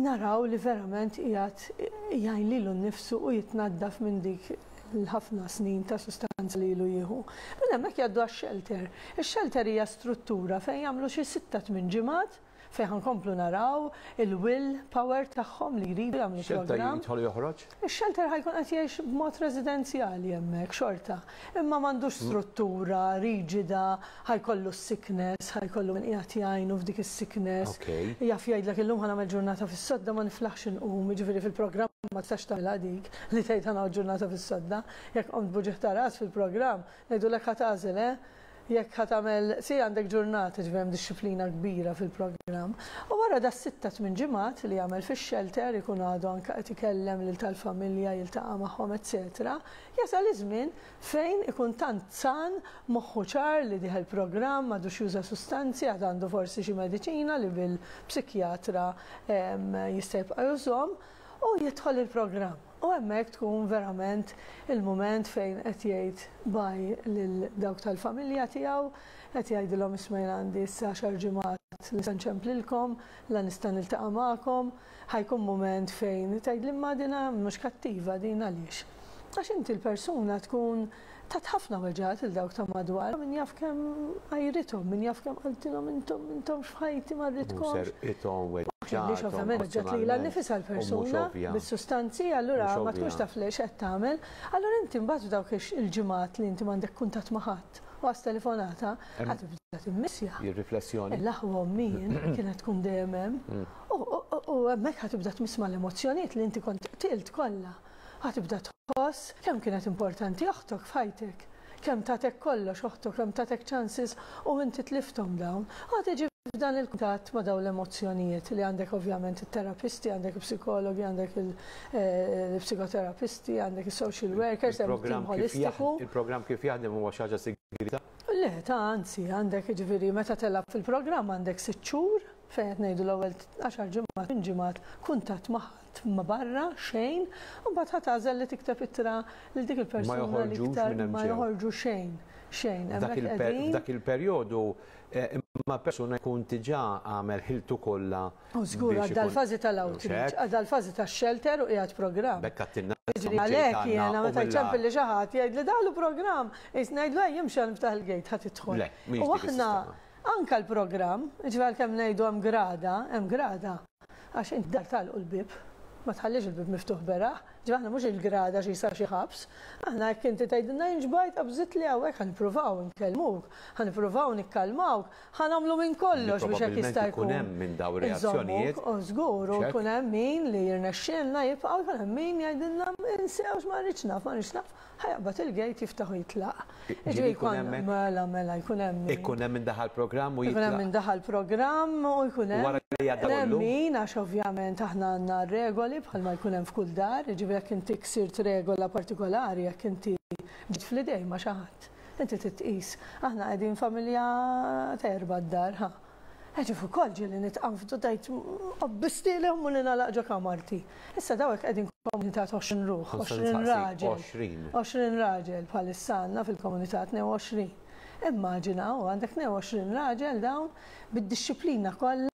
naraw li verament qiegħed jgħin lilu nnifsu u jitnaddaf minn dik l-ħafna snin ta' sustanza li ilu jieħu. Minn hemmhekk jgħaddu għax-shelter. Ix-shelter hija struttura fejn jagħmlu xi sitta tmien ġimgħat. fejn ħa nkomplu naraw il-will power tagħhom li jridu jagħmlu Xelter programm. jidħol u joħroġ? Ix-shelter ħa jkun qed jgħix b'mod residenzjali hemmhekk xorta. Imma m'għandux struttura riġida, ħa jkollu s-sickness, ħa jkollu min qiegħed jgħinu f'dik is-sickness. Jaf jgħidlek illum ħa nagħmel ġurnata fis-sodda ma niflaħx inqum, jiġifieri fil-programm ma tistax tagħmilha dik li tgħid ħa nagħmel ġurnata fis-sodda. Jekk qomt b'uġigħ ta' ras fil-programm, ngħidulek ħa tagħżel, eh? Jekk ħa tagħmel, si għandek ġurnata, ġifieri hemm dixxiplina kbira fil-programm. U wara da 6-8 ġimgħat li jagħmel fix-shelter ikun għadu anke qed ikellem lil tal-familja, jiltaqa' magħhom, eċetera. Jasal iż-żmien fejn ikun tant san, moħħu ċar li dieħel programm, m'għadux juża sustanzi, għad għandu forsi xi mediċina li bil-psikjatra jista' jibqa' jużhom, u jidħol il-programm. U hemmhekk tkun verament il-mument fejn qed jgħid bye lil dawk tal-familja tiegħu, qed jgħidilhom isma' jien għandi issa għaxar ġimgħat li nista' nċemplilkom, la nista' niltaqa' magħkom. Ħa jkun mument fejn tgħidli imma dina mhux kattiva din għaliex? Għax inti l-persuna tkun tat ħafna weġgħat lil dawk ta' madwar, min jaf kemm għajrithom, min jaf kemm qaltilhom intom m'intomx f'ħajti ma rridkomx. U serqithom, Għaliex ovvjament weġġgħet lilha nnifisha l-persuna bis-sustanzi, allura ma tkunx taf x'qed tagħmel. Allura inti mbagħad f'dawk il-ġimgħat li inti m'għandek kuntatt ma' ħadd u għas telefonata, ħa tibda timmissja. Ir-riflessjoni. L-aħwa ommi jien kienet tkun dejjem hemm. U hemmhekk ħa tibda tmiss mal-emozzjonijiet li inti kont qtilt kollha. Ħa tibda tħoss kemm kienet importanti oħtok f'ħajtek. Kemm tatek kollox oħtok, kemm tatek chances u inti tlifthom dawn. U ħa tiġi f'dan il-kuntatt ma' dawn l-emozzjonijiet li għandek ovvjament it-terapisti, għandek il-psikologi, għandek il-psikoterapisti, għandek il-social workers, hemm tim holistiku. Il-programm kif jaħdem huwa xi ħaġa sigrieta? Le, ta' anzi, għandek jiġifieri meta telgħab fil-programm għandek 6 xhur fejn qed ngħidu l-ewwel għaxar ġimgħat, tmien ġimgħat kuntatt ma' ħadd ma' barra, xejn, u mbagħad ħa tagħżel li tikteb ittra lil dik il-persuna li iktar ma joħorġu xejn, xejn. Hemmhekk qegħdin. F'dak il-perjodu imma persuna jkun diġà għamel ħiltu kollha. U żgur għadda l-fażi tal-outreach, għadda l-fażi tax-shelter u qiegħed programm. B'hekk għattilna. Jiġri għalhekk jiena meta jċempilli xi ħadd jgħidli daħlu programm, qis ngħidlu ejja imxi ħa niftaħ il-gate ħa tidħol. Le, mhix U dik aħna is-sistema. Anke l-programm, jiġifieri għalkemm ngħidu hemm grada, hemm grada, għax int dar tagħlqu l-bieb, ma tħallix il-bieb miftuħ beraħ, jiġifieri aħna mhux il-grada xi jsar xi ħabs, aħna jekk inti tgħidilna jien xbajt qabżitli hawnhekk ħa nippruvaw inkellmuk, ħa nippruvaw nikkalmawk, ħa nagħmlu minn kollox biex hekk jista' Probabbilment ikun jkun hemm minn dawn ir-reazzjonijiet. inżommuk, u żgur, u jkun hemm min li jirnexxielna jibqa' u jkun hemm min jgħidilna insewx ma rridx naf, ma rridx naf. Ħa jaqbad il-gate jiftaħ u jitlaq. Ġifieri jkun hemm hekk? Mela, mela, jkun hemm min. Ikun hemm min daħal programm u Ikun hemm jitlaq. min daħal programm u jkun hemm. Wara li jgħadda Jkun hemm kollu? min, għax ovvjament aħna għandna regoli bħalma jkun hemm f'kull dar, jiġifieri jekk inti ksirt regola partikolari, jekk inti ġiet fl-idejn ma' xi ħadd, inti trid tqis. Aħna qegħdin familja ta' erba' d-dar, ħa. Ġif ukoll ġieli nitqanfdu tgħid qobbistielhom u ningħalaq ġo kamarti. Issa dawn hekk qegħdin komunità ta' 20 ruħ, 20 raġel. 20. 20 raġel bħalissa għandna fil-komunità 22. Immaġina u għandek 22 raġel dawn bid-dixxiplina kollha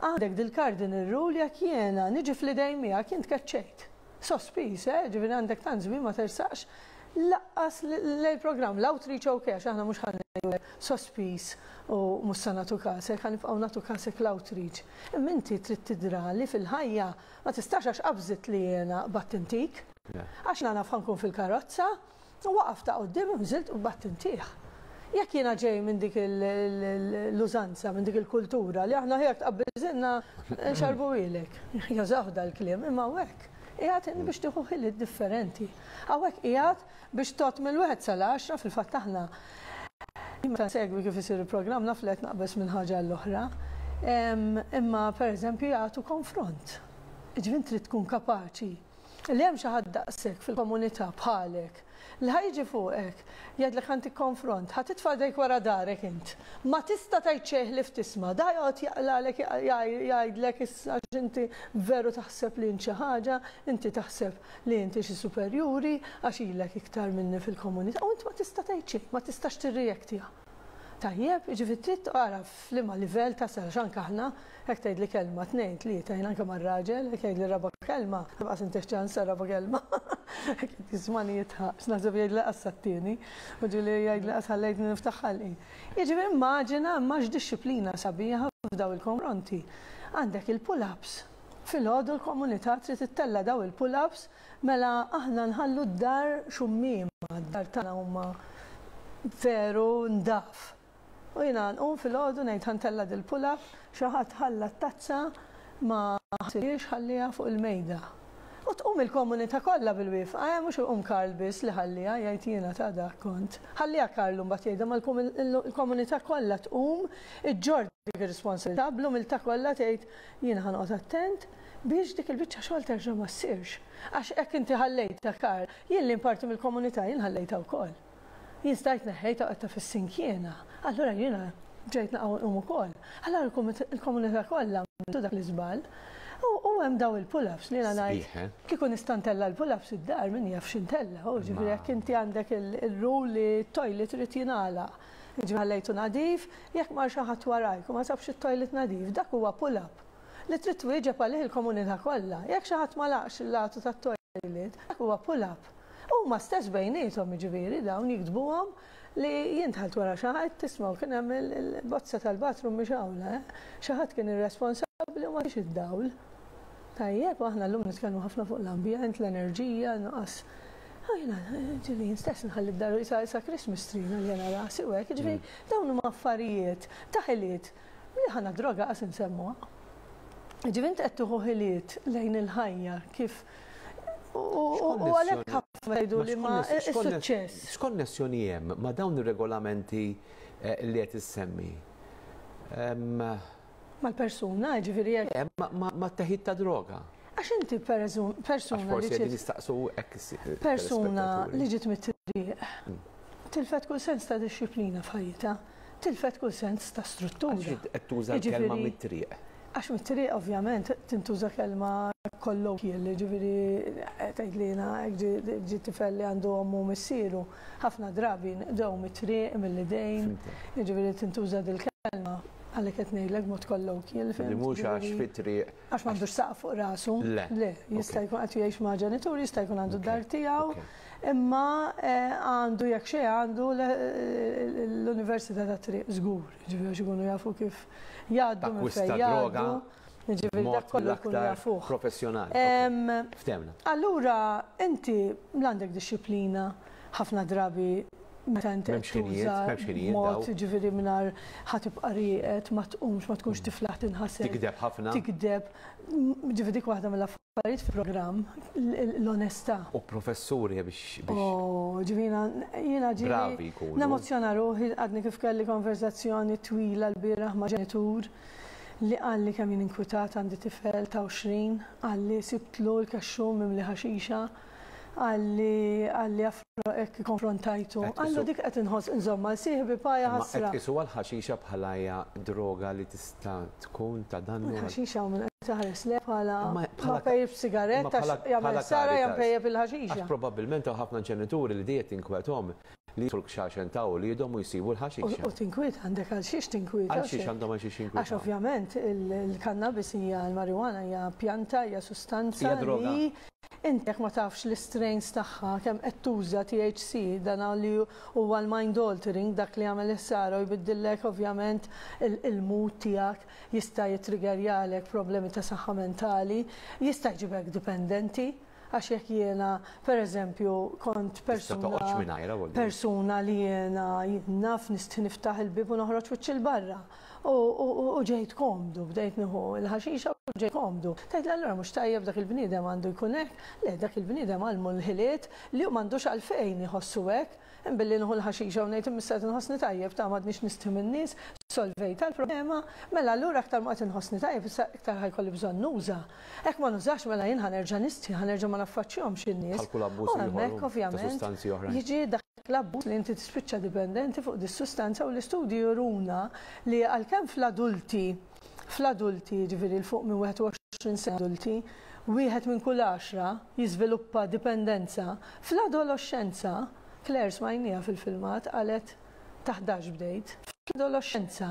għandek dil-cardinal rule jekk jiena niġi fl-idejn miegħek jien tkeċċejt. Sospiż, eh, ġifieri għandek tant żmien ma tersaqx laqqas lejn programm l-outreach ok, għax aħna mhux ħa ngħidulek sospiż u mhux se nagħtu kasek, ħa nibqgħu nagħtu kasek l-outreach. Imma inti trid tidra li fil-ħajja ma tistax għax qabżit li jiena qbadt intik. Għax jiena naf ħa nkun fil-karozza, u waqaf ta' quddiem u nżilt u qbadt intih. Jekk jiena ġej minn dik l-użanza, minn dik il-kultura li aħna ħejjek tqabbiżilna nxarbuhielek. Jużawh dal-kliem, imma hawnhekk qiegħed biex tieħu ħiliet differenti. Hawnhekk qiegħed biex tgħodd mill-wieħed sal-għaxra fil-fatt aħna meta nsegwi kif isir il-programm naf li qed naqbeż minn ħaġa għall-oħra. Imma pereżempju jagħtu konfront. Jiġifieri trid tkun kapaċi li hemm xi ħadd daqshekk fil-komunità bħalek li ħa jiġi fuqek jgħidlek ħa ntik konfront, ħa titfa' idejk wara darek int. Ma tista' tgħid xejn ħlief tisma', da joqgħod jaqlalek jgħidlek issa għax inti veru taħseb li int xi ħaġa, inti taħseb li inti xi superjuri għax ilek iktar minni fil-komunità u int ma tista' tgħid xejn, ma tistax tirreaktja. Tajjeb, jiġifieri trid tara f'liema livell tasal għax anke aħna hekk tgħidli kelma, tnejn, tlieta, jien anke mar-raġel, hekk jgħidli raba' kelma, lanqas intih ċans għar-raba' kelma. Hekk qed jismagħni jidħaq, għax naħseb jgħidli lanqas sat-tieni, u ġieli jgħidli lanqas ħallejtni niftaħ ħalqi. Jiġifieri immaġina imma x'dixxiplina sabiħa f'dawn il-konfronti. Għandek il-pull-ups. Filgħodu l-komunità trid ittella' dawn il-pull-ups Mela aħna nħallu d-dar xummiema, d-dar tagħna huma veru ndaf. U jiena nqum filgħodu ngħid ħa ntella' dil-pull-up, xi ħadd ħalla t-tazza ma ħasilhiex ħalliha fuq il-mejda. U tqum il-komunità kollha bil-wifqa, eh, mhux iqum Karl biss li ħalliha, jgħid jiena ta' dak kont. Ħalliha Karl imbagħad jgħidha ma l-komunità kollha tqum iġġorr dik ir-responsabilità bl-umiltà kollha tgħid jiena ħa noqgħod attent biex dik il-biċċa xogħol terġa' ma ssirx. Għax hekk inti ħallejtha, Karl, jien li parti mill-komunità jien ħallejtha wkoll. Jien stajt neħħejtha u qgħadtha fis-sink jiena. Allura jiena ġejt naqa' u nqum ukoll. Allura l-komunità kollha għamiltu dak l-iżball. U hemm daw il-pull-ups li jiena ngħid Sbieħ, eh? kieku nista' ntella' l-pull-ups id-dar min jaf x'intella'. U ġifieri jekk inti għandek il-rule li t-toilet irid jingħalaq. Jiġifieri ħallejtu nadif, jekk mar xi ħadd warajk u ma sabx it-toilet nadif, dak huwa pull-up. Li trid twieġeb għalih il-komunità kollha. Jekk xi ħadd m'għalaqx il-latu tat-toilet, dak huwa pull-up. Huma stess bejniethom, jiġifieri, dawn jiktbuhom li jien dħalt wara xi ħadd, tismgħu kien hemm il-bozza tal-bathroom mixgħula, eh. Xi ħadd kien irresponsabbli u ma tiex id-dawl. Tajjeb, u aħna llum nitkellmu ħafna fuq l-ambjent, l-enerġija, nuqqas. U jiena, ġifieri jien stess nħalli d-dar qisha Christmas tree għalija rasi u hekk, jiġifieri dawn huma affarijiet ta' ħiliet Li ħana droga qas insemmuha. Ġifieri inti qed tieħu ħiliet lejn il-ħajja kif u għalhekk ħafna jgħidu li ma is-suċċess. X'konnessjoni hemm ma' dawn ir-regolamenti eh, li qed issemmi? Mal-persuna, ġifieri jekk. Eh, ma' teħid ta' droga. Għax inti persuna li ġiet. nistaqsu hekk. Persuna li ġiet mit-triq. Tilfet kull sens ta' dixxiplina f'ħajjitha. Tilfet kull sens ta' struttura. Għax qed tuża l-kelma mit-triq. Għax mit-triq ovvjament tintuża kelma colloquial, jiġifieri tgħid li jiena hekk ġie tifel li għandu ommu u missieru, ħafna drabi nqdew mit-triq, mill-idejn, jiġifieri tintuża dil-kelma għalhekk qed ngħidlek b'mod colloquial. Li mhux għax fit-triq. Għax m'għandux saqaf fuq rasu. Le. Le, jista' jkun qed jgħix ma' ġenituri, jista' jkun għandu d-dar tiegħu. Imma għandu jekk xejn għandu l-Università tat-Triq żgur, jiġifieri għax ikunu jafu kif jgħaddu minn fejn jgħaddu. Jiġifieri dak kollu jkunu jafuh. Professjonali. Ftehmna. Allura inti l-għandek dixxiplina ħafna drabi meta inti qed tuża mod jiġifieri mingħajr ħa tibqa' rieqed, ma tqumx, ma tkunx tiflaħ tinħasel. Tigdeb ħafna. Tigdeb. Jiġifieri dik waħda mill-affarijiet Affarijiet fil-programm, l-onestà. U professuri biex. Oh, ġifieri jiena ġieli. Bravi jkunu. Nemozzjona ruħi għadni kif kelli konversazzjoni twila lbieraħ ma' ġenitur li qalli kemm jien inkwitat għandi tifel ta' 20, qalli sibtlu l-kexxun mimli ħaxixa, qalli qalli hekk ikkonfrontajtu. Qallu dik qed inħoss inżomm għal sieħbi pa jaħasra. Imma qed tqisuha l-ħaxixa bħala hija droga li tista' tkun ta' dannu. Il-ħaxixa hawn min qed iħares lejha bħala ma pejjipx sigarett għax jagħmel ħsara jew pejjep il-ħaxixa. Għax probabbilment hawn ħafna ġenituri li dejjem tinkwetahom li jidħlu l-kxaxen ta' uliedhom u jsibu l-ħaxixa. U tinkwieta għandek għal xiex tinkwieta. Għal xiex għandhom għal xiex jinkwetaw. Għax ovvjament il-kannabis hija l-marijuana hija pjanta, hija sustanza li Inti jekk ma tafx l-istrains tagħha, kemm qed tuża THC, dan li huwa l-mind altering, dak li jagħmel il-ħsara u jbiddillek ovvjament il-mood tiegħek, jista' jittriggerjalek problemi ta' saħħa mentali, jista' jġibek dipendenti, għax jekk jiena pereżempju kont persuna persuna li jiena naf nistħi niftaħ il-bieb u noħroġ wiċċi 'l barra. U ġejt komdu, bdejt nieħu l-ħaxixa u ġejt komdu. Tgħidli allura mhux tajjeb dak il-bniedem għandu jkun hekk? Le, dak il-bniedem għallmu l-ħiliet li hu m'għandux għalfejn iħossu hekk. Imbilli nieħu l-ħaxixa u ngħid imma issa qed inħossni tajjeb ta' m'għadnix nistħi min-nies, solvejtha l-problema, mela allura aktar ma qed inħossni tajjeb issa iktar ħa jkolli bżonn nuża. Hekk ma nużax mela jien ħa nerġa' nistħi, ħa nerġa' ma naffaċċjahomx in-nies. Bħal kull abbuż U ieħor hemmhekk ta' ovvjament sustanzi oħrajn. jiġi dak L-abbuż li inti tispiċċa dipendenti fuq dis-sustanza u l-istudji juruna li għalkemm fl-adulti, fl-adulti jiġifieri 'l fuq minn 21 sena adulti, wieħed minn kull għaxra jiżviluppa dipendenza, fl-adoloxxenza, Claire smajnieha fil-filmat qalet ta' 11 bdejt. Fl-adoloxxenza,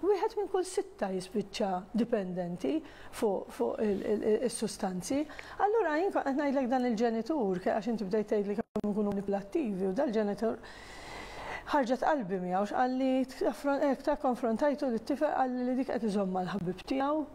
wieħed minn kull sitta jispiċċa dipendenti fuq fuq is-sustanzi. Allura jien kont qed ngħidlek dan il-ġenitur, għax inti bdejt tgħidli kemm ikunu manipulattivi u dal-ġenitur ħarġet qalbi miegħu x'qalli ta' konfrontajtu lit-tifel qalli li dik qed iżomm mal-ħabib tiegħu.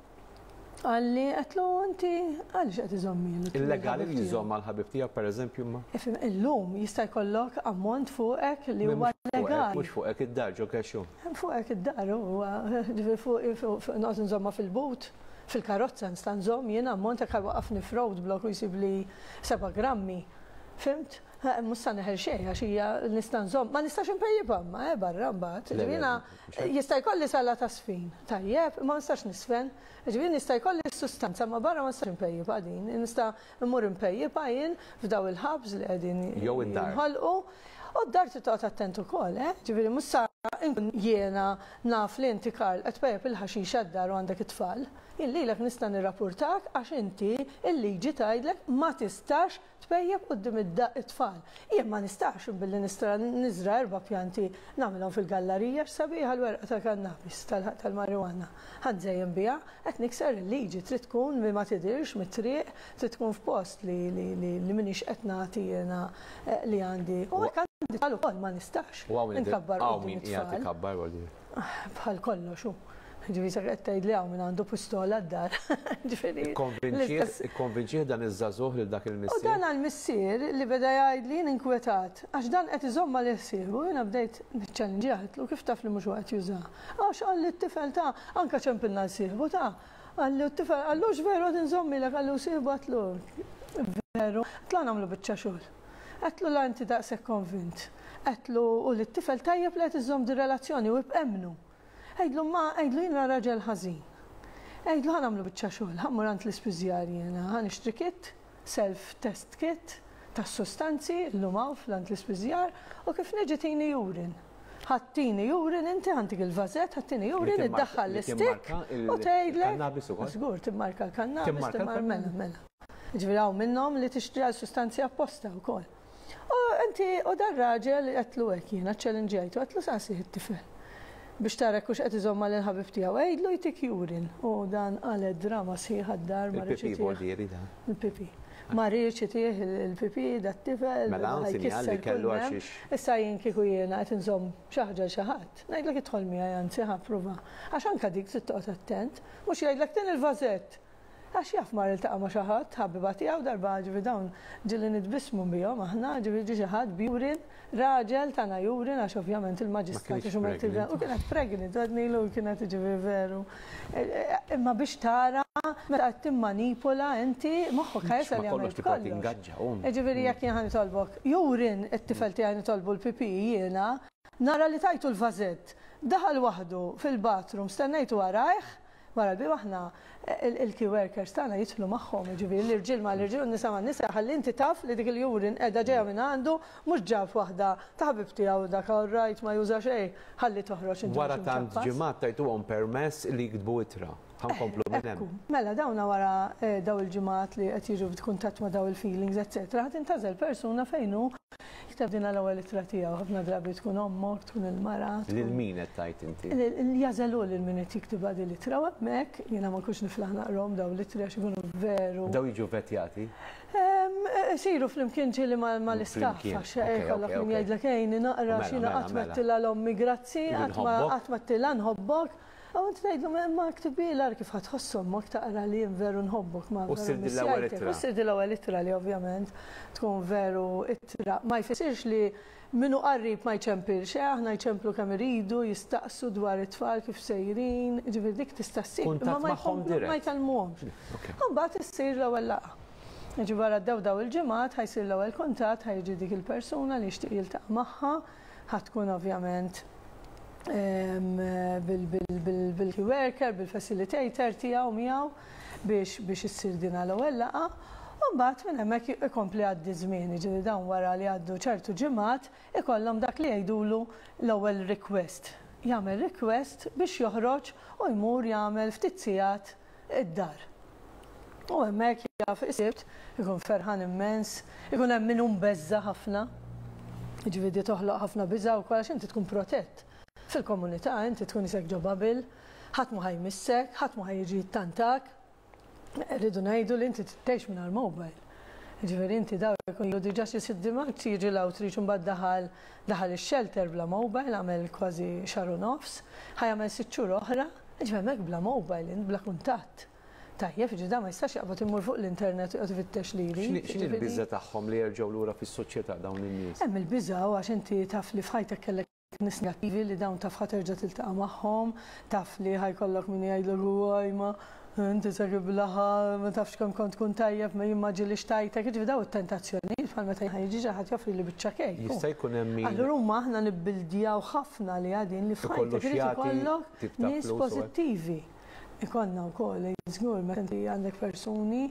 Qalli, għedtlu inti għaliex qed iżommilu? Illegali li jżomm mal-ħabib tiegħu pereżempju imma? Ifhem, illum jista' jkollok ammont fuqek li huwa legali. Mhux fuqek id-dar ġo cash hu. Fuqek id-dar huwa, ġifieri fuq noqgħod inżommha fil-but, fil-karozza nista' nżomm jien ammont jekk ħa jwaqqafni f'road block u jsibli seba' grammi. Fhimt? Mhux sa neħel xejn għax hija nista' nżomm, ma nistax inpejjipha imma eh barra mbagħad. Ġifieri jiena Jista' jkolli sala ta' żfin, tajjeb, imma ma nistax niżfen. Jiġifieri jista' jkolli s-sustanza, imma barra ma nistax inpejjipha din. Nista' mmur inpejjipha jien f'daw il-hubs li qegħdin jinħolqu. U d-dar trid toqgħod attent ukoll, eh! Jiġifieri mhux sa nkun jiena naf li inti Karl qed tpejjep il-ħaxixa d-dar u għandek it-tfal. Jien lilek nista' nirrapurtak għax inti l-liġi tgħidlek ma tistax Tpejjep quddiem it-tfal. Jien ma nistax billi nistra niżra' erba' pjanti nagħmilhom fil-gallarija x'sabiħa l-werqa tal-kannabis, tal-marijuana. Ħa nżejjen biha, qed nikser il-liġi. Trid tkun li ma tidhirx mit-triq, trid tkun f'post li li li li m'iniex qed nagħti jiena li għandi. U hekk għandi tfal ukoll ma nistax inkabbar quddiem it-tfal. Bħal kollox hu. Ġifieri sa qed tgħidli hawn min għandu pistola d-dar. Ġifieri. Ikkonvinċih dan iż-żagħżugħ lil dak il-missier. U dan għall-missier li beda jgħidli jien inkwetat għax dan qed iżomm għalih sieħbu jiena bdejt niċċellinġjah għedtlu kif taf li mhux hu qed jużaha. Għax qalli t-tifel ta' anke ċempilna 'l sieħbu ta' qalli u t-tifel qallu hux veru qed inżommilek qalli u sieħbu għedtlu veru. Għedtlu ħa nagħmlu biċċa xogħol. Għedtlu la inti daqshekk konvint. Għedtlu u lit-tifel tajjeb li qed iżżomm dir-relazzjoni u ibqa' emmnu. Għidlu ma, għidlu jiena raġel ħażin. Għidlu ħa nagħmlu biċċa xogħol, ħa mmur għand l-ispiżjar jiena, ħa nixtri kit, self test kit, tas-sustanzi, illum hawn fl-għand l-ispiżjar, u kif niġi tini urine. Ħa ttini urine inti, ħa ntik il-vażett, ħa ttini urine, iddaħħal l-istick u tgħidlek. Żgur, timmarka l-kannabis, timmarka, mela, mela. Jiġifieri hawn minnhom li tixtri għal sustanzi apposta wkoll. U inti u dar-raġel għedtlu hekk jiena, ċċellinġjajtu, għedtlu saqsih it-tifel biex tara jekk hux qed iżomm mal-ħabib tiegħu. Għidlu jtik urine. U dan qalgħet drama sħiħa d-dar ma riedx Il-pipì itih. vuol dire dan. Il-pipì. Ma riedx itih il-pipì dat-tifel, Mela hawn ħa sinjal li jkisser kellu kull m'hemm. għaxiex. Issa jien kieku jiena qed inżomm xi ħaġa lil xi ħadd, ngħidlek idħol miegħi anzi ħa ppruvha. Għax anke dik trid toqgħod attent. Mhux jgħidlek tini l-vażett. Għax jaf mar iltaqa' ma' xi ħadd, ħabiba tiegħu darba, ġifieri dawn ġieli nitbissmu bihom aħna, ġifieri ġie xi ħadd b'urine, raġel tana urine għax ovvjament il-maġistrat għax huma u kienet pregnant, għednilu kienet ġifieri veru. Imma biex tara meta qed timmanipula inti moħħok ħa jasal jagħmel kollox. Jiġifieri jekk jien ħa nitolbok urine, it-tifel tiegħi nitolbu l-pipì jiena, nara li tajtu l-vażett, daħal waħdu fil-bathroom, stennejtu warajh, Wara l-bieb aħna il-key workers tagħna jidħlu magħhom, jiġifieri l-irġiel mal-irġiel u n-nisa man-nisa ħalli inti taf li dik il-urine qiegħda ġejja minn għandu mhux ġab waħda ta' ħabib tiegħu dak all right ma juża xejn ħalli toħroġ inti Wara tant ġimgħat tajtuhom permess li jiktbu ittra. Ħa nkomplu minn hemm. Ekku. Mela dawna wara dawn il-ġimgħat li qed jiġu f'kuntatt ma' dawn il-feelings eċċetera ħa tintgħażel persuna fejn hu Jikteb din l-ewwel ittra tiegħu, ħafna drabi tkun ommok, tkun il-mara. Lil min qed tgħid inti? Jagħżel hu lil min qed jiktibha din l-ittra u hemmhekk jiena ma nkunx niflaħ naqrahom dawn l-ittri għax ikunu veru. Dawn jiġu vettjati? Isiru flimkien ġieli mal-istaff għax ikollok min jgħidlek għinni naqra għax jiena qatt m'għedtilha 'l ommi grazzi, qatt m'għedtilha nħobbok. U inti tgħidlu imma ktibhielha ara kif ħa tħoss ommok taqra li jien veru nħobbok ma U ssir din l-ewwel ittra. U ssir din l-ewwel ittra li ovvjament tkun veru ittra. Ma jfissirx li min hu qarib ma jċempilx, eh aħna jċemplu kemm iridu, jistaqsu dwar it-tfal kif sejrin, jiġifieri dik tista' ssir. Kuntatt magħhom dirett. Ma jkellmuhomx. U mbagħad issir l-ewwel laqgħa. Jiġifieri wara għaddew dawn il-ġimgħat ħa jsir l-ewwel kuntatt, ħa jiġi dik il-persuna li jixtieq jiltaqa' magħha, ħa tkun ovvjament bil-key worker, bil-facilitator tiegħu miegħu biex biex issir din l-ewwel laqgħa. U mbagħad minn hemmhekk ikompli jgħaddi ż-żmien, jiġifieri dawn wara li jgħaddu ċertu ġimgħat ikollhom dak li jgħidulu l-ewwel request. Jagħmel request biex joħroġ u jmur jagħmel ftit sigħat id-dar. U hemmhekk jaf is-Sibt, ikun ferħan immens, ikun hemm min hu mbeżża' ħafna. Jiġifieri di toħloq ħafna biża' wkoll għax inti tkun protett. Fil-komunità inti tkun isek ġo bubble, ħadd mhu ħa jmissek, ħadd mhu ħa jiġi jittantak. Rridu ngħidu li inti trid tgħix mingħajr mobile. Jiġifieri inti dawn ikun ilu diġà xi sitt ġimgħat jiġi l-outreach u mbagħad daħal daħal ix-shelter bla mobile għamel kważi xahar u nofs, ħa jagħmel sitt xhur oħra, jiġifieri hemmhekk bla mobile int bla kuntatt. Tajjeb, jiġifieri dan ma jistax jaqbad imur fuq l-internet u joqgħod ifittex li jrid. X'inhi l-biża' tagħhom li jerġgħu lura fis-soċjetà dawn in-nies? Hemm il-biża' għax inti taf li f'ħajtek kellek nies negattivi li dawn taf ħa terġa' tiltaqa' magħhom, taf li ħa jkollok min jgħidlek uwaj ma inti se tiblaha, ma tafx kemm kont tkun tajjeb, ma jien ma ġieli xtajtek, jiġifieri dawn it-tentazzjonijiet bħal meta jiġi xi ħadd joffrili biċċa kejk. Jista' jkun hemm min. Allura huma aħna nibbildjaw ħafna li din li f'ħajtek irid ikollok nies pożittivi. Ikollna wkoll, żgur, meta inti għandek persuni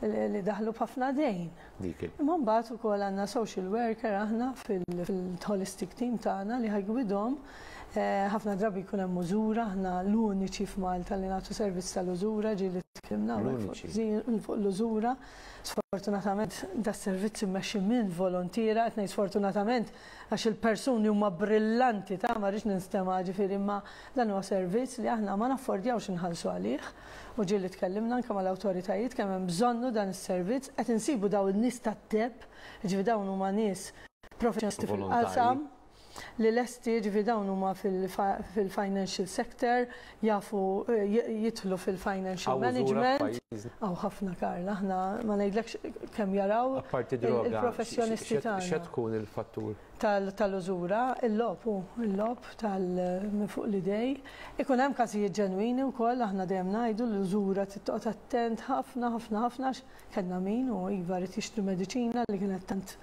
li daħlu b'ħafna dejn. Dik il. Imma mbagħad ukoll għandna social worker aħna fil-holistic team tagħna li ħa jgwidhom. Ħafna drabi jkun hemm użura, aħna l-uniċi f'Malta li nagħtu servizz tal-użura, ġieli tkellimna hawnhekk fuq l-użura. Sfortunatament das-servizz immexxi minn volontiera, qed ngħid sfortunatament għax il-persuni huma brillanti ta' ma rridx ninstema' ġifieri imma dan huwa servizz li aħna ma naffordjawx inħallsu għalih u ġieli tkellimna anke mal-awtoritajiet kemm hemm bżonnu dan is-servizz, qed insibu dawn in-nies tat-teb, jiġifieri dawn huma nies professjonisti fil-qasam li lesti, jiġifieri dawn huma fil-financial sector, jafu jidħlu fil-financial management. Hawn ħafna Karl, aħna ma ngħidlekx kemm jaraw il-professjonisti tagħna. X'qed tkun il-fattur? Tal-użura, il-logħob hu, il-logħob tal minn fuq l-idej. Ikun hemm każijiet ġenwini wkoll, aħna dejjem ngħidu l-użura trid toqgħod attent ħafna ħafna ħafna għax kellna min u iva ried jixtri mediċina li kienet tant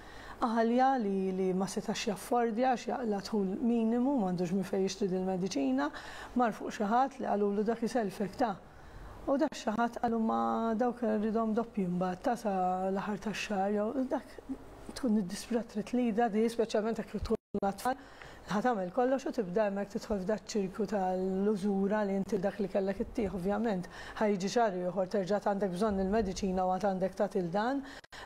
għalja li li ma setax jaffordja għax jaqla' dħul minimu m'għandux minn fejn jixtri dil-mediċina, mar fuq xi ħadd li qalulu dak isellfek ta. U dak xi ħadd qalu ma dawk rridhom doppji mbagħad ta' sa l-aħħar tax-xahar jew dak tkun iddisprat trid lida di speċjalment jekk tkun għat-tfal ħa tagħmel kollox u tibda hemmhekk tidħol f'daċ-ċirku tal-użura li inti dak li kellek ittih ovvjament ħa jiġi xahar ieħor terġa' għad għandek bżonn il-mediċina u għad għandek tagħti 'l dan,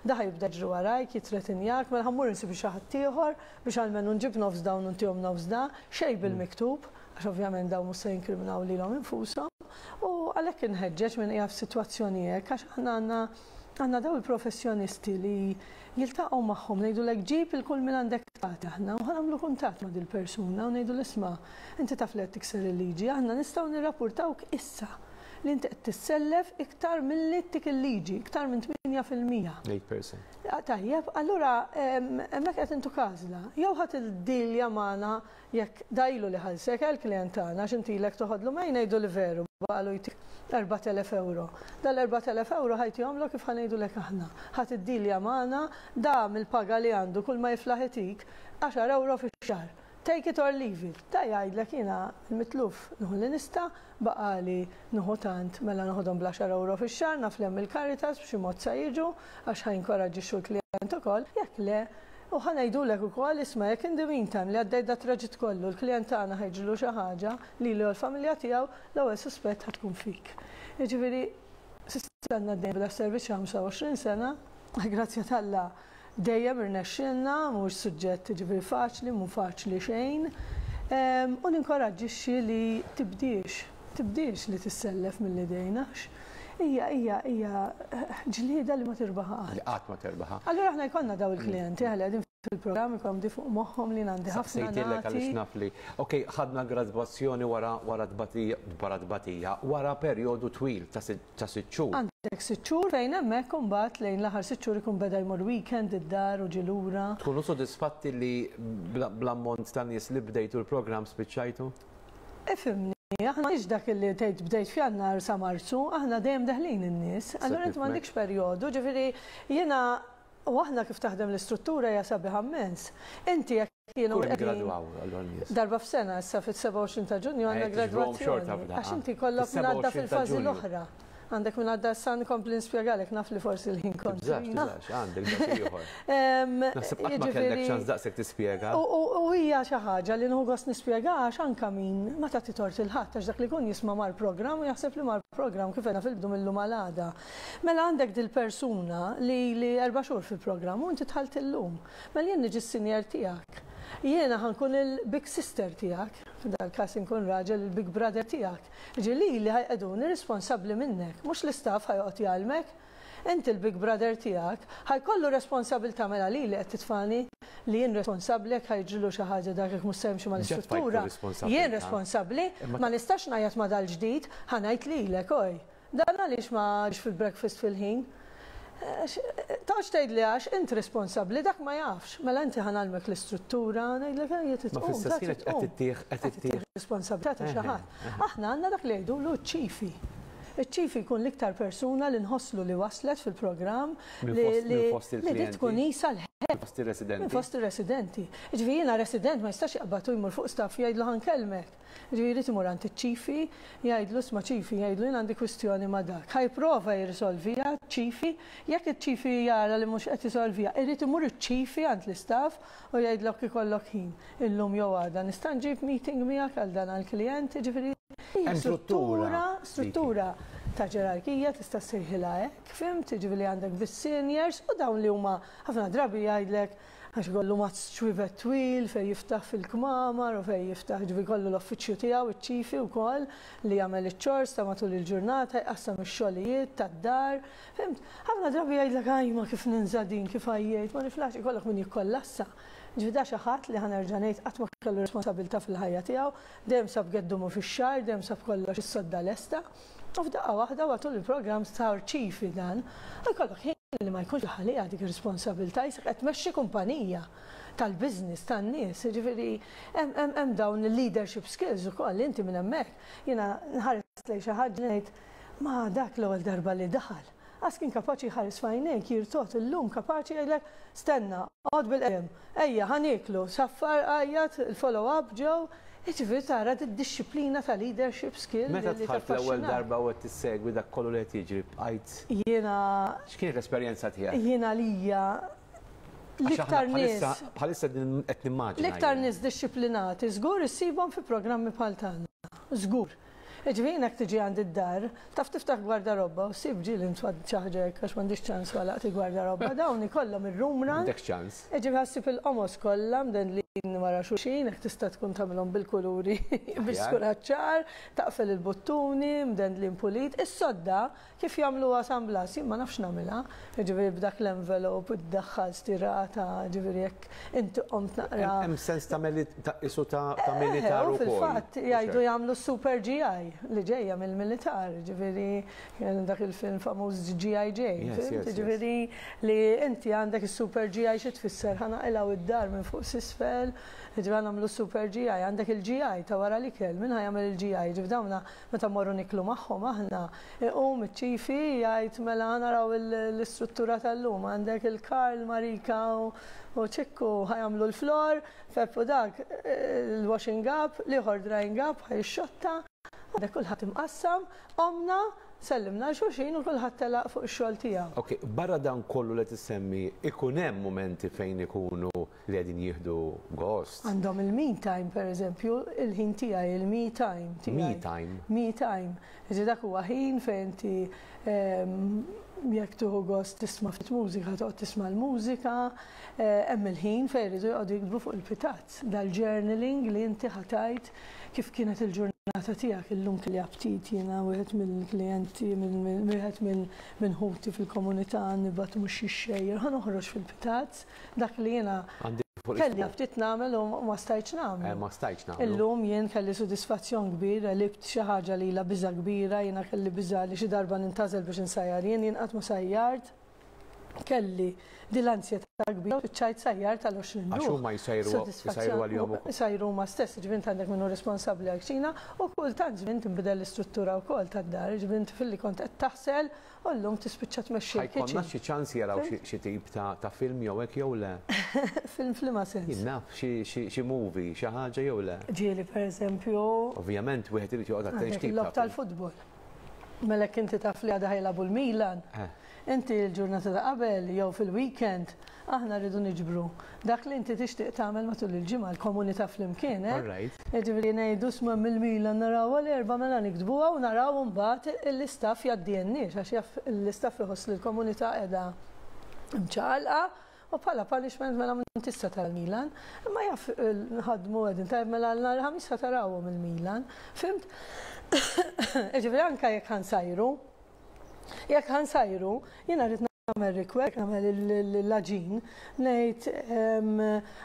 da ħa jibda jiġri warajk, jittretinjak, mela ħa mmur insib xi ħadd ieħor biex almenu nġib nofs dawn u ntihom nofs da, xejn bil-miktub, għax ovvjament dawn mhux se jinkriminaw lilhom infushom. U għalhekk inħeġġeġ min qiegħed f'sitwazzjoni hekk għax aħna għandna għandna dawn il-professjonisti li jiltaqgħu magħhom, ngħidulek ġib 'il kull min għandek tagħti aħna u ħa nagħmlu kuntatt ma' dil-persuna u ngħidulu isma' inti taf li qed tikser il-liġi, aħna nistgħu nirrapurtawk issa li inti qed tissellef iktar milli ttik il-liġi, iktar minn 8%. 8%. Tajjeb, allura hemmhekk qed intuk għażla. Jew ħa tiddilja magħna Jekk da ilu li ħallsek, eh l-klient tagħna, għax inti ilek toħodlu ma jien ngħidu li veru, baqagħlu jtik 4000 ewro. Dal-4000 ewro ħa jtihomlok kif ħa ngħidulek aħna. Ħa tiddilja magħna, da mill-paga li għandu kull ma jiflaħ itik, għaxar ewro fix-xahar. Take it or leave it. Da jgħidlek jiena l-mitluf nieħu li nista', baqagħli nieħu tant, mela noħodhom bl-għaxar ewro fix-xahar, naf li hemm il-Caritas b'xi mod sa jiġu għax ħa jinkoraġġixxu l-klijent ukoll, jekk le, U ħa ngħidulek ukoll, isma' jekk in the meantime li għaddejt dat-traġitt kollu, l-klijent tagħna ħa jiġrilu xi ħaġa, lilu jew l-familja tiegħu, l-ewwel suspett ħa tkun fik. Jiġifieri, s'issa għandna għaddejjin b'das-servizz xi 25 sena, għall-grazzja t'Alla dejjem irnexxielna, mhuwiex suġġett jiġifieri faċli, mhu faċli xejn. U ninkoraġġixxi li tibdiex, tibdiex li tissellef mill-idejn għax hija hija hija ġlieda li ma tirbaħha qatt. Li qatt ma terbaħha. Allura aħna jkollna daw il-klijenti li qegħdin fil-programm ikollhom di fuq moħħhom li għandi ħafna Saqsejtilek għaliex naf li. Ok, ħadna gradwazzjoni wara wara tbatija wara tbatija wara perjodu twil ta' ta' sitt xhur. Għandek sitt xhur fejn hemmhekk imbagħad lejn l-aħħar sitt xhur ikun beda jmur weekend id-dar u ġie lura. Tkunu sodisfatti li bl-ammont ta' nies li bdejtu l-programm spiċċajtu? Ifhimni, aħna m'għandniex dak li tgħid bdejt f'Jannar sa Marzu, aħna dejjem deħlin in-nies. Allura inti m'għandikx perjodu, ġifieri jiena u aħna kif taħdem l-istruttura hija sabiħa mmens. Inti jekk jiena Kull jiggradwaw allura n-nies? Darba f'sena, issa fit-27 ta' Ġunju għandna gradwazzjoni. Għax inti jkollok min għadda fil-fażi l-oħra. Għandek min għadda issa nkompli nispjegalek, naf li forsi l-ħin kontrina. Tibżax, tibżax, għandek dak ieħor. Naħseb qatt ma kellek ċans daqshekk tispjega. U hija xi ħaġa li nieħu gost nispjega għax anke min ma tagħti tort lil ħadd għax dak li jkun jisma' mal-programm u jaħseb li mal-programm kif għedna fil-bidu mil-lum għal għada. Mela għandek dil-persuna li ili erba' xhur fil-programm u inti dħalt illum. Mela jien niġi s-senior tiegħek. Jiena ħa nkun il-big sister tiegħek, f'dal-każ inkun raġel il-big brother tiegħek. Jiġifieri lili ħa jqegħduni responsabbli minnek, mhux l-istaff ħa joqgħod jgħallmek. Inti l-big brother tiegħek ħa jkollu responsabilità mela lili qed titfagħni li jien responsabbli jekk ħa jiġrilu xi ħaġa dak jekk mhux se jimxi mal-istruttura. Jien responsabbli, ma nistax ngħajjat ma' dal-ġdid, ħa ngħid lilek, oj. Dan għaliex ma ġiex fil-breakfast fil-ħin? Toqgħodx tgħidli għax int responsabbli, dak ma jafx. Mela inti ħa ngħallmek l-istruttura, ngħidlek ejja trid tqum, Ma fl-istess ħin qed ittih qed ittih responsabilità ta' xi ħadd. Aħna għandna dak li jgħidulu ċ-ċifi. Iċ-ċifi jkun l-iktar persuna li nħosslu li waslet fil-programm li li tkun qisha l-head. Minn fost ir-residenti. Minn fost ir-residenti. Jiġifieri jiena resident ma jistax jaqbad u jmur fuq staff jgħidlu ħa nkellmek. Jiġifieri jrid imur għand iċ-ċifi, jgħidlu isma' ċifi, jgħidlu jien għandi kwistjoni ma' dak. Ħa jipprova jirrisolviha ċ-ċifi, jekk iċ-ċifi jara li mhux qed isolviha, irid imur iċ-ċifi għand l-istaff u jgħidlok ikollok ħin, illum jew għada nista' nġib meeting miegħek għal dan għall-klijent, jiġifieri hija struttura, struttura ta' ġerarkija tista' ssejħilha hekk, fhimt, jiġifieri għandek bis-seniors u dawn li huma ħafna drabi jgħidlek Għax ikollu mazz ċwievet twil fejn jiftaħ fil-kmamar u fejn jiftaħ, jiġifieri jkollu l-offiċċju tiegħu, iċ-ċifi wkoll, li jagħmel iċ-chores ta' matul il-ġurnata, jqassam ix-xogħlijiet tad-dar. Fhimt? Ħafna drabi jgħidlek ajma kif ninża' din, kif għajjejt, ma niflaħx, ikollok min jikkollassa. Jiġifieri da xi ħadd li ħa nerġa' ngħid qatt ma kellu responsabilità fil-ħajja tiegħu, dejjem sab geddumu fix-xagħar, dejjem sab kollox is-sodda lesta. U f'daqqa waħda matul il-programm sar ċifi dan, u jkollok ħin li ma jkunx għaliha dik ir-responsabilità, qisek qed tmexxi kumpanija tal-business tan-nies, jiġifieri hemm dawn il-leadership skills ukoll li inti minn hemmhekk, jiena nħares lejn xi ħadd ngħid ma dak l-ewwel darba li daħal, qas kien kapaċi jħares f'għajnejk, jirtogħod illum kapaċi jgħidlek stenna, oqgħod bil-qedem, ejja ħa nieklu, saffar għajjat, il-follow up ġew, Jiġifieri tara d-dixxiplina ta' leadership skill li Meta dħalt l-ewwel darba u qed tissegwi dak kollu li qed jiġri bqajt. Jiena. X'kienet l-esperjenza tiegħek? Jiena għalija l-iktar nies. Bħalissa qed nimmaġina. L-iktar nies dixxiplinati żgur issibhom fi programmi bħal tagħna. Żgur. Jiġifieri jien jekk tiġi għandi d-dar, taf tiftaħ gwardarobba u ssib ġieli ntfad xi ħaġa hekk għax m'għandix ċans u għalaqt il-gwardarobba, dawn ikollhom ir-room run. M'għandekx ċans. Jiġifieri ħa ssib il-qomos kollha mdendlin wara xulxin, hekk tista' tkun tagħmilhom bil-kuluri biex tkun għaċ-ċar, taqfel il-buttuni, mdendlin pulit. Is-sodda Kif jagħmluha San Blas, jien ma nafx nagħmilha, jiġifieri b'dak l-envelope iddaħħal stirata, jiġifieri jekk inti qomt naqra. Hemm sens ta' qisu ta' militar ukoll. U fil-fatt jgħidu jagħmlu s-super GI li ġejja mill-militar, jiġifieri dak il-film famuż GI Jane, fhimt? Jiġifieri li inti għandek is-super GI xi tfisser ħa naqilgħu d-dar minn fuq s'isfel, jiġifieri ħa nagħmlu s-super GI, għandek il-GI ta' wara l-ikel, min ħa jagħmel il-GI? Jiġifieri dawn Meta mmorru nieklu magħhom aħna, iqum iċ-ċifi jgħid mela naraw l-istruttura tal-lum, għandek il-Karl, Marika u Ċikku ħa jagħmlu l-floor, Pep u dak il-washing up, l-ieħor drying up ħa jixxotta, għandek kulħadd imqassam, qomna, sellimna 'l xulxin u kulħadd telaq fuq ix-xogħol tiegħu. Ok, barra dan kollu li qed issemmi, ikun hemm mumenti fejn ikunu li qegħdin jieħdu gost. Għandhom il-me time per eżempju, il-ħin tiegħi, il-me time tiegħi. Me time. Me time. Jiġifieri dak huwa ħin fejn inti jekk tieħu gost tisma' ftit mużika toqgħod tisma' l-mużika, hemm il-ħin fejn iridu joqogħdu jiktbu fuq il-pitazz. Dal-journaling li inti ħa tgħid kif kienet il-ġurnata tiegħek illum kelli aptit jiena wieħed mill-klijenti wieħed minn ħuti fil-komunità nibgħat mhux xixxejjer ħa noħroġ fil-pitazz Dak li jiena kelli ftit nagħmel u ma stajtx nagħmlu. Eh, ma stajtx nagħmlu. Illum jien kelli sodisfazzjon kbir, għelibt xi ħaġa li ilha biża' kbira, jiena kelli biża' li xi darba nintgħażel biex insajjar jien, jien qatt ma sajjart. Kelli din l-anzjetà kbira u spiċċajt sajjart għal 20 ruħ. Għax huma jsajru jsajru għalihom ukoll. Isajru huma stess, jiġifieri int għandek min hu responsabbli għall-kċina u kultant żmien tinbidel l-istruttura wkoll tad-dar, jiġifieri inti filli kont qed taħsel U llum tispiċċa tmexxi l-kitchen. Ħa jkollna xi ċans jaraw xi tip ta' film jew hekk jew le? Film f'liema sens? Jien naf, xi movie, xi ħaġa jew le? Ġieli pereżempju. Ovvjament wieħed irid joqgħod attent x'tip ta'. Il-logħob tal-futbol. Mela jekk inti taf li għada ħa jilagħbu l-Milan, inti l-ġurnata ta' qabel jew fil-weekend, aħna rridu niġbru dak li inti tixtieq tagħmel matul il-ġimgħa, l-komunità flimkien, eh? Jiġifieri ngħidu isma' mill-Milan narawha l-Erbgħa mela niktbuha u naraw imbagħad l-istaff jgħaddielniex għax jaf l-istaff iħoss li l-komunità qiegħda mċaqalqa U bħala punishment mela m'intix se tara l-Milan. Imma jaf nħaddmu qegħdin tajjeb mela nhar il-Ħamis ħa tarawhom il-Milan. Fhimt? Jiġifieri anke jekk ħa nsajru, jekk ħa nsajru, jiena rrid nagħmel request, nagħmel l-għaġin, ngħid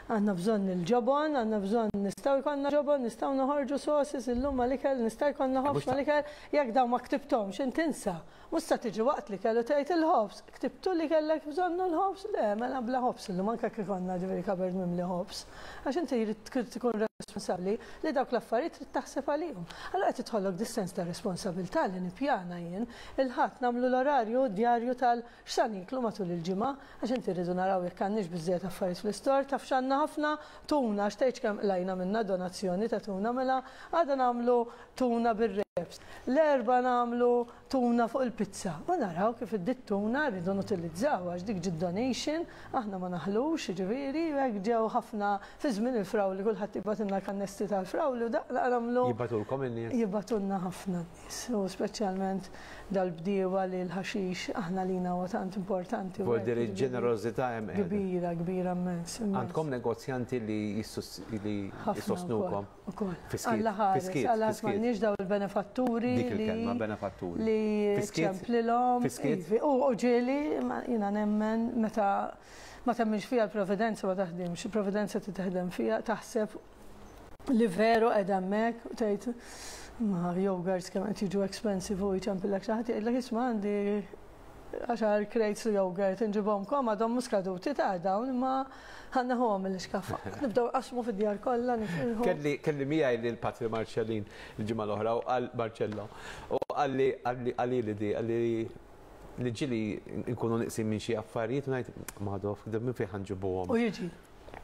għandna bżonn il-ġobon, għandna bżonn nistgħu jkollna ġobon, nistgħu noħorġu sauces illum mal-ikel, nista' jkollna ħobż mal-ikel, jekk dawn ma ktibthomx int insa. Mhux sa tiġi waqt l-ikel u tgħid il-ħobż. Ktibtu li kellek bżonnu l-ħobż? Le, mela bla ħobż illum anke jekk ikollna ġifieri cupboard mimli ħobż. Għax inti jrid tkun responsabbli li dawk l-affarijiet trid taħseb għalihom. Allura qed tidħollok dis-sens ta' responsabilità li nippjana jien. Il-Ħadd nagħmlu l-orarju, d-djarju tal x'sa nieklu matul il-ġimgħa, għax inti rridu naraw jekk għandniex biżżejjed affarijiet fl-istor, taf x'għandna ħafna? Tuna, għax tgħidx kemm qlajna minnha donazzjoni ta' tuna, mela għada nagħmlu tuna bir-reps. L-Erbgħa nagħmlu tuna fuq il-pizza u naraw kif id-tuna rridu nutilizzawha għax dik ġiet donation, aħna ma naħlux, jiġifieri, u hekk ġew ħafna fi żmien il-frawli kulħadd jibgħatilna l-kannesti tal-frawli u daqqa nagħmlu. Jibgħatulkom in-nies? Jibgħatulna ħafna n-nies u speċjalment dal-bdiewa li l-ħaxix aħna għalina huwa tant importanti. Vuol dire ġenerożità hemm qiegħda. Kbira, kbira mmens. Għandkom negozjanti li jissostnukom? Ukoll. Alla ħares, Alla ħares m'għandniex daw il-benefatturi. Dik il-kelma, benefatturi. Li ċemplilhom. U ġieli, jiena nemmen meta ma temminx fija l-providenza ma taħdimx. Il-providenza titaħdem fija, taħseb li veru qiegħda hemmhekk u tgħid ma yogurts kemm qed jiġu expensive u jċempillek xi ħadd jgħidlek isma' għandi għaxar crates yogurt inġibhomkom għadhom mhux skaduti ta' dawn imma ħa neħuhom mill-iskaffa. Nibdew nqassmu fid-djar kollha nifirħu. Kelli kelli miegħi lil Patri Marcellin il-ġimgħa l-oħra u qal Marcello u qalli qalli qalili di qalli li ġieli nkunu nieqsin minn xi affarijiet u ngħid Madoff minn fejn ħa nġibuhom. U jiġi.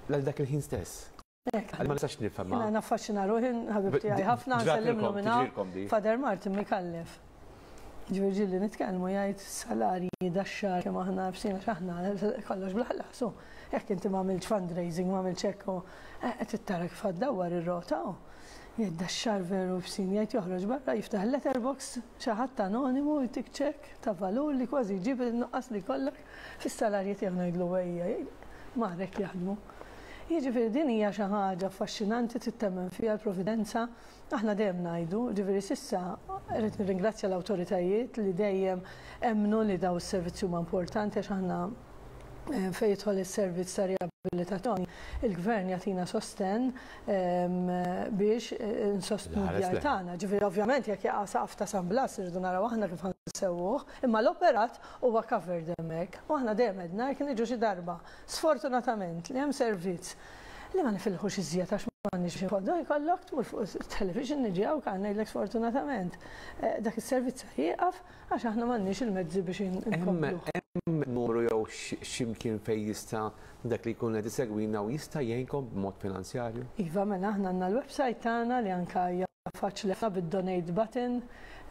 Għal dak il-ħin stess. Ma nistax nifhem. Jiena naffaxxina ruħi, ħabib tiegħi ħafna, nsellimlu minn hawn. Father Martin Micallef. Ġifieri ġieli nitkellmu jgħid salarji dax-xahar kemm aħna bsina għax aħna kollox bla ħlas u jekk inti ma għamiltx fundraising, ma għamiltx hekk u qed tara kif ħa ddawwar ir-rota u jgħid dax-xahar veru bsin jgħid joħroġ barra jiftaħ il-letterbox xi ħadd anonimu jtik ċekk ta' valur li kważi jġib in-nuqqas li jkollok fis-salarji tiegħu ngħidlu ejja jgħid mar hekk jaħdmu. Jiġifieri din hija xi ħaġa affaxxinanti trid temmen fiha l-providenza. Aħna dejjem ngħidu, jiġifieri s'issa rrid nirringrazzja l-awtoritajiet li dejjem emmnu li dawn is-servizzi huma importanti għax aħna fejn jidħol is-servizz ta' riabilitazzjoni, il-Gvern jagħtina sostenn biex insostnu d-djar tagħna. Ġifieri ovvjament jekk jaqa' saqaf ta' San Blas irridu naraw aħna kif ħa nsewwuh, imma l-operat huwa covered hemmhekk. U aħna dejjem għedna jekk niġu xi darba Sfortunatament li hemm servizz li ma nifilħux iżjed għax m'għandniex biex inqogħdu, jkollok tmur fuq it-television niġi hawn kan ngħidlek sfortunatament dak is-servizz se jieqaf għax aħna m'għandniex il-mezzi biex inkompluh. Hemm numru jew xi mkien fejn jista' dak li jkun qed isegwina u jista' jgħinkom b'mod finanzjarju? Iva, mela aħna għandna l-website tagħna li anke hija Faċli ħafna bid-donate button,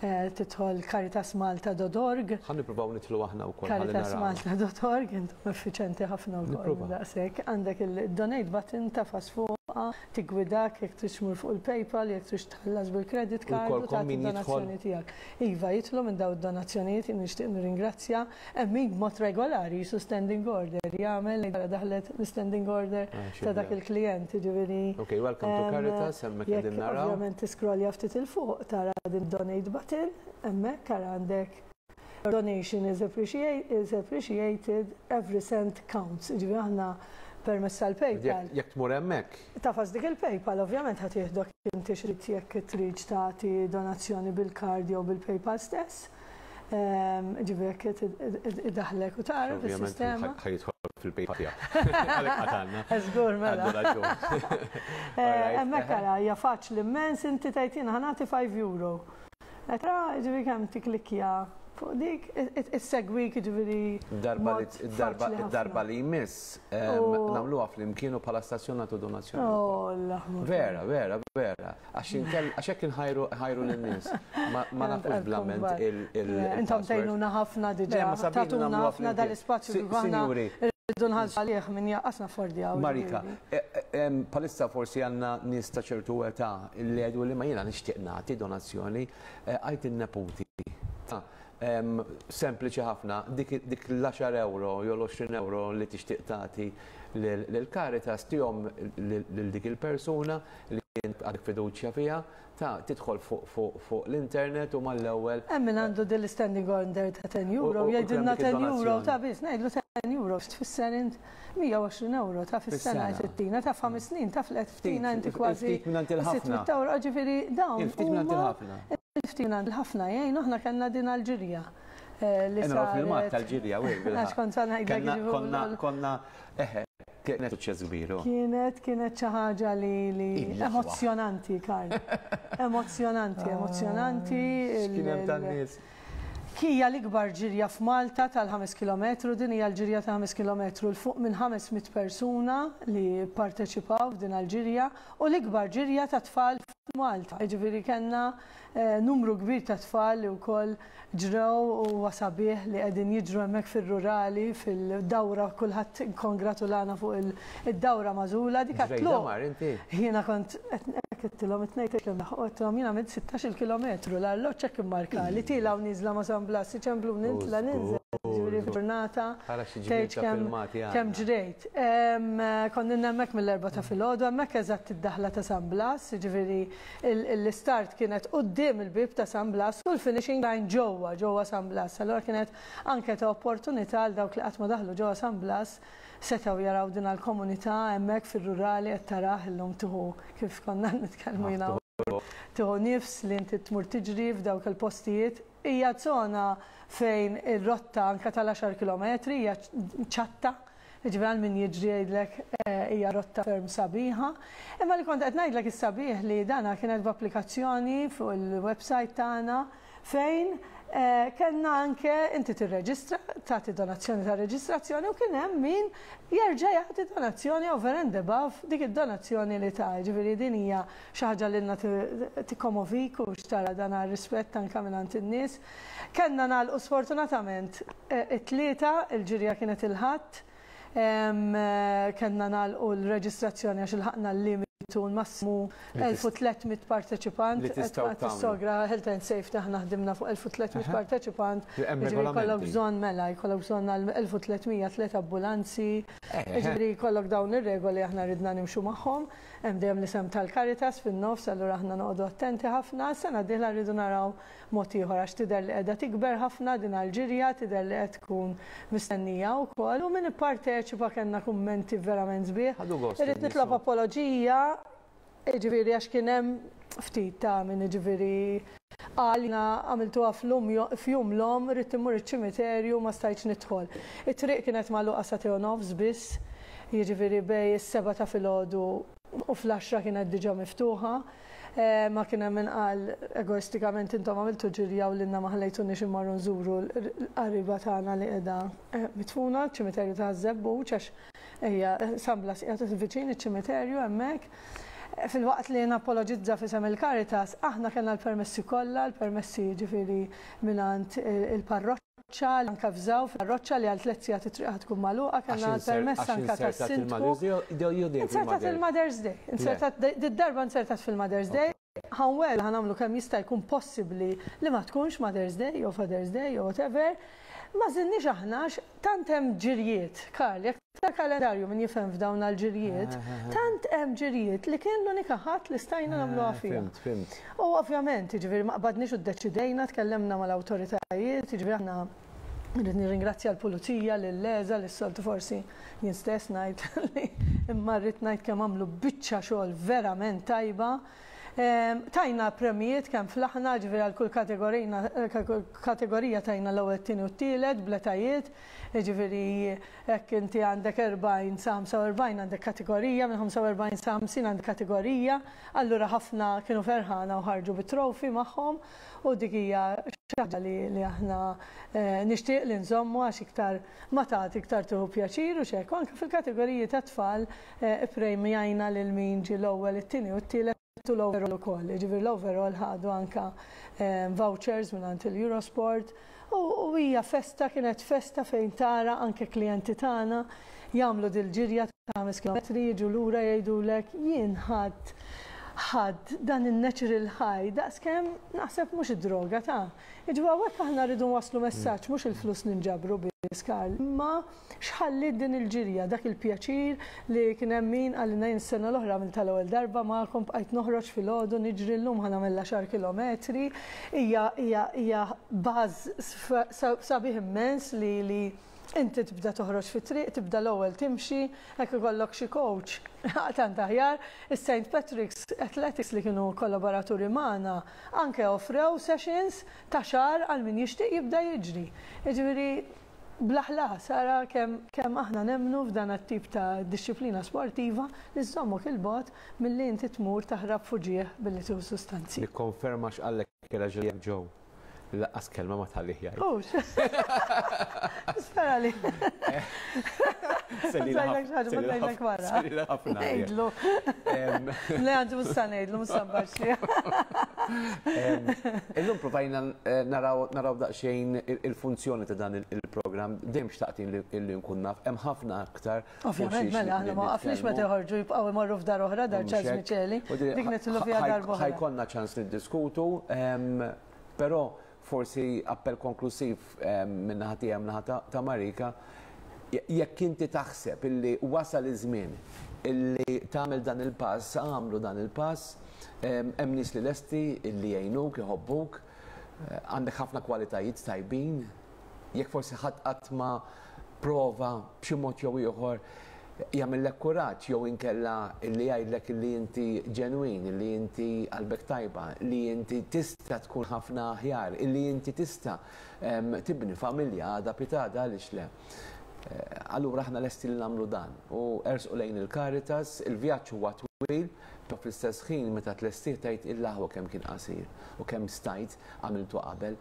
tidħol caritasmalta.org. Ħa nippruvaw nidħlu aħna wkoll ħalli naraw. Caritasmalta.org, intom effiċenti ħafna wkoll daqshekk. Għandek il-donate button tafas fuqha, tiggwidak jekk tridx tmur fuq il-PayPal, jekk tridx tħallas bil-credit card u tagħti d-donazzjoni tiegħek. Iva, jidħlu minn dawn id-donazzjonijiet, jien nixtieq nirringrazzja Hemm min b'mod regolari qisu standing order jagħmel ngħid daħlet l-standing order ta' dak il-klijent, jiġifieri. Ok, welcome to Caritas, hemmhekk qegħdin naraw. Ovvjament tiskrolja ftit 'il fuq tara din donate button, hemmhekk ara għandek Your donation is appreciated, every cent counts. Jiġifieri aħna permezz tal-PayPal. Jekk tmur hemmhekk. Tafas dik il-PayPal ovvjament ħa tieħdok inti x'trid jekk tridx tagħti donazzjoni bil-card jew bil-PayPal stess. Ġifieri jekk idaħħlek u tara fis-sistema. Ħa jidħol fil-PayPal tiegħek. Għalhekk qatgħalna. Żgur mela. Hemmhekk ara hija faċli immens inti tgħid jiena ħa nagħti 5 euro. Qed tara jiġifieri kemm tikklikkja fuq dik issegwik jiġifieri. Id-darba li jmiss nagħmluha flimkien u bħala stazzjon nagħtu donazzjoni. Vera, vera, vera. Għax inkell, għax hekk inħajru ħajru lin-nies. Ma nafux bl-amment il. Intom tgħinuna ħafna diġà. Tagħtuna ħafna dal-ispazju kif aħna rridu nħallsu għalih min jaqas naffordjaw. Marika, bħalissa forsi għandna nies ta' ċertu età li jgħidu li ma jiena nixtieq nagħti donazzjoni, għid in-neputi. Sempliċi ħafna, dik l-għaxar ewro jew l-20 ewro li tixtieq tagħti lil Caritas tihom lil dik il-persuna li int għandek fiduċja fiha, ta' tidħol fuq l-internet u mal-ewwel. Hemm min għandu din standing order ta' 10 euro, jgħidilna 10 euro ta' biss, ngħidlu 10 euro, tfisser int 120 euro ta' fis-sena tittina ta' 5 snin ta' flet ftina inti kważi 600 euro, ġifieri dawn. Il-ftit minn il-ħafna. Il-ftit minn il-ħafna jgħin, aħna kellna din għal-ġirja. Li saret. Tal-ġirja, Għax kont sa ngħidlek. Konna, eħe, kienet suċċess kbir. Kienet xi ħaġa li emozjonanti, Karl. Emozjonanti, emozjonanti. Kien hemm tan-nies. Hija l-ikbar ġirja f'Malta tal-5 km, din hija l-ġirja ta' 5 km 'l fuq minn 500 persuna li parteċipaw f'din l-ġirja u l-ikbar ġirja ta' tfal f'Malta. Ġifieri kellna numru kbir ta' tfal li wkoll ġrew u huwa sabiħ li qegħdin jiġru hemmhekk fir-rurali, fil-dawra, kulħadd kongratulana fuq id-dawra magħżula. Dik inti? Jiena kont għedtilhom it-tnejn għedtilhom jiena għamilt 16 kilometru, l-arloġġ hekk immarka li tiela' u nieżla ma' San Blas, iċemplu nitla' ninżel. Ġifieri ġurnata tgħid kemm ġrejt. Konna hemmhekk mill-4 ta' filgħodu, hemmhekk eżatt id-daħla ta' San Blas, ġifieri l-start kienet quddiem il-bib ta' San Blas u l-finishing line ġewwa San Blas. Allora kienet anke ta' opportunità għal dawk li qatt ma daħlu ġewwa San Blas setgħu jaraw din għal-komunità hemmhekk fir-rurali qed tarah illum tieħu, kif konna nitkellmu jiena, tieħu nifs li inti tmur tiġri f'dawk il-postijiet. Hija zona fejn ir-rotta anke tal-10 km hija ċatta, ġifieri għal min jiġri jgħidlek hija rotta ferm sabiħa. Imma li kont qed ngħidlek is-sabiħ li dana kienet b'applikazzjoni fuq il-website tagħna fejn kellna anke inti tirreġistra, tagħti donazzjoni ta' reġistrazzjoni u kien hemm min jerġa' jagħti donazzjoni over and above dik id-donazzjoni li ta'. Ġifieri din hija xi ħaġa li lna tikkomovik u xtara dan rispett anke mingħand in-nies. Kellna nagħlqu sfortunatament it-Tlieta, il-ġirja kienet il-Ħadd. Kellna nagħlqu l-reġistrazzjoni għax ilħaqna l-limitu massimu 1300 parteċipant. Li tistgħu tagħmlu. Tissogra Health and Safety aħna ħdimna fuq 1300 parteċipant. Hemm Ġifieri jkollok regolamenti. bżonn mela, jkollok bżonn għal 1300 tliet ambulanzi. Ġifieri jkollok dawn ir-regoli, aħna ridna nimxu magħhom. Hemm dejjem l-isem tal-Caritas fin-nofs, allura aħna noqogħdu attenti ħafna. Sena dieħla rridu naraw mod ieħor għax tidher li qiegħda tikber ħafna din għal-ġirja, tidher li qed tkun mistennija wkoll u min ipparteċipa kellna kummenti verament sbieħ. Ħadu gost Irrid in-nies, nitlob apoloġija, ġifieri għax kien hemm ftit ta' min ġifieri qal jiena għamiltuha f'jum l-omm, rrid immur iċ-ċimiterju, ma stajtx nidħol. It-triq kienet magħluqa sa nofs biss, jiġifieri bejn is-7 ta' filgħodu u fl-10 kienet diġà miftuħa. Ma kien hemm min qal egoistikament intom għamiltu ġirja u lilna ma ħallejtuniex immorru nżuru l-qariba tagħna li qiegħda mitfuna ċ-ċimiterju ta' Żebbuġ, għax hija San Blas qiegħed viċin iċ-ċimiterju hemmhekk. Filwaqt li napologizza f'isem il-Caritas, aħna kellna l-permessi kollha, l-permessi ġifieri mingħand il-parroċċa, li anka fżaw fil-parroċċa li għal 3 sigħat it-triq tkun magħluqa, kellna l-permess anka tas-sindku. Inzertat il-Mother's Day. Inzertat, did-darba inzertat fil-Mother's Day. Ħa nwiegħdu ħa nagħmlu kemm jista' jkun possibbli li ma tkunx Mother's Day jew Father's Day jew whatever. Ma żinniex aħna għax tant hemm ġirjiet, Karl, jekk ta' kalendarju min jifhem f'dawn għal-ġirjiet, tant hemm ġirjiet li kien l-unika ħadd li stajna nagħmluha fiha. Fhimt, fhimt. U ovvjament, ġifieri ma qbadniex u ddeċidejna, tkellemna mal-awtoritajiet, ġifieri aħna rrid nirringrazzja l-pulizija, lill-LESA, lis-soltu forsi jien stess ngħid li imma rrid ngħid kemm għamlu biċċa xogħol verament tajba. Tajna premijiet kemm flaħna, ġifieri għal kull kategorija tajna l-ewwel, tieni u t-tielet, bl-etajiet, ġifieri jekk inti għandek 40 sa 45 għandek kategorija, minn 45 sa 50 għandek kategorija, allura ħafna kienu ferħana u ħarġu bit-trophy magħhom u dik hija xi ħaġa li aħna nixtieq li nżommu għax iktar ma tagħti iktar tieħu pjaċir u xek. Anke fil-kategoriji ta' tfal ippremjajna lil min ġie l-ewwel, it-tieni u t-tielet u l-overall ukoll. Ġifieri l-overall ħadu anka vouchers minn il-Eurosport u hija festa, kienet festa fejn tara anke klijenti tagħna jagħmlu dil-ġirja ta' 5 km, jiġu lura jgħidulek jien ħadd. ħadd dan in-natural high daqskemm naħseb mhux id-droga ta'. Jiġifieri hawnhekk aħna rridu nwasslu messaġġ mhux il-flus ninġabru biss Karl, imma x'ħalliet din il-ġirja, dak il-pjaċir li kien hemm min qalilna jien s-sena l-oħra għamiltha l-ewwel darba magħkom bqajt noħroġ filgħodu niġri llum ħa nagħmel l-għaxar kilometri, hija hija hija buzz sabiħ immens li li Inti tibda toħroġ fit-triq, tibda l-ewwel timxi, hekk ikollok xi coach, tant aħjar. Is-St Patrick's Athletics li kienu kollaboraturi magħna anke offrew sessions ta' xahar għal min jixtieq jibda jiġri. Jiġifieri bla ħlas, ara kemm kemm aħna nemmnu f'dan it-tip ta' dixxiplina sportiva li żżommok 'il bogħod milli inti tmur taħrab f'uġigħ billi tieħu sustanzi. Nikkonferma x'qallek ir-raġel tiegħek Joe. Laqqas kelma ma tħallih jgħid. Hux. Nispera li. Ngħidlek xi ħaġa, ma ngħidlek wara. Selila ħafna. Ngħidlu. Le għandi mhux sa ngħidlu, mhux sa nbaxxi. Illum provajna eh, naraw naraw daqsxejn il-funzjoni ta' dan il-programm, dejjem xtaqt illi nkun naf, hemm ħafna aktar. Ovvjament, mela, aħna ma waqafniex meta joħorġu jibqgħu imorru f'dar oħra, dar Charles Micheli. Dik nidħlu fiha darba. Ħajkonna ċans niddiskutu. Però forsi appell konklusiv min-naħa tiegħi min-naħa ta' Marika, jekk inti taħseb illi wasal iż-żmien illi tagħmel dan il-pass, agħmlu dan il-pass, hemm nies li lesti illi jgħinuk, iħobbuk, għandek ħafna kwalitajiet tajbin, Jekk forsi ħadd qatt ma prova b'xi mod jew ieħor jagħmillek kuraġġ jew inkella li jgħidlek li inti ġenwin, li inti qalbek tajba, li inti tista' tkun ħafna aħjar, li inti tista' tibni familja għada pitgħada għaliex le. Allura aħna lesti li nagħmlu dan u ersqu lejn il-Caritas, il-vjaġġ huwa twil, però fl-istess ħin meta tlestih tgħid il-aħwa kemm kien qasir u kemm stajt għamiltu qabel.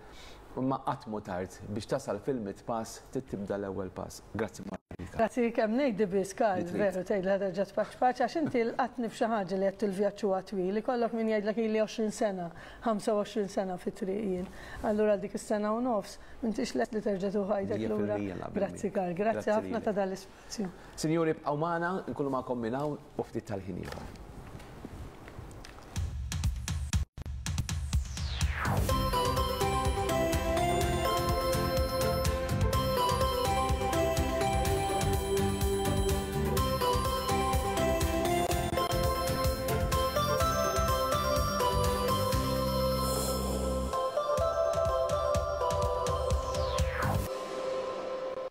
Imma qatt mhu tard biex tasal fil-mitt pass trid tibda l-ewwel pass. Grazzi Marika. Grazzi kemm ngħidli biss Karl, veru tgħidli ħa terġa' tpaċpaċ għax inti lqatni f'xi ħaġa li għedt il-vjaġġ huwa twil, ikollok min jgħidlek ili 20 sena, 25 sena fit-triq jien. Allura għal dik is-sena u nofs m'intix lest li terġa' tieħu ħajtek lura. Grazzi Karl, grazzi ħafna ta' dan l-ispazju. Sinjuri ibqgħu magħna, nkunu magħkom minn hawn u ftit tal-ħin ieħor.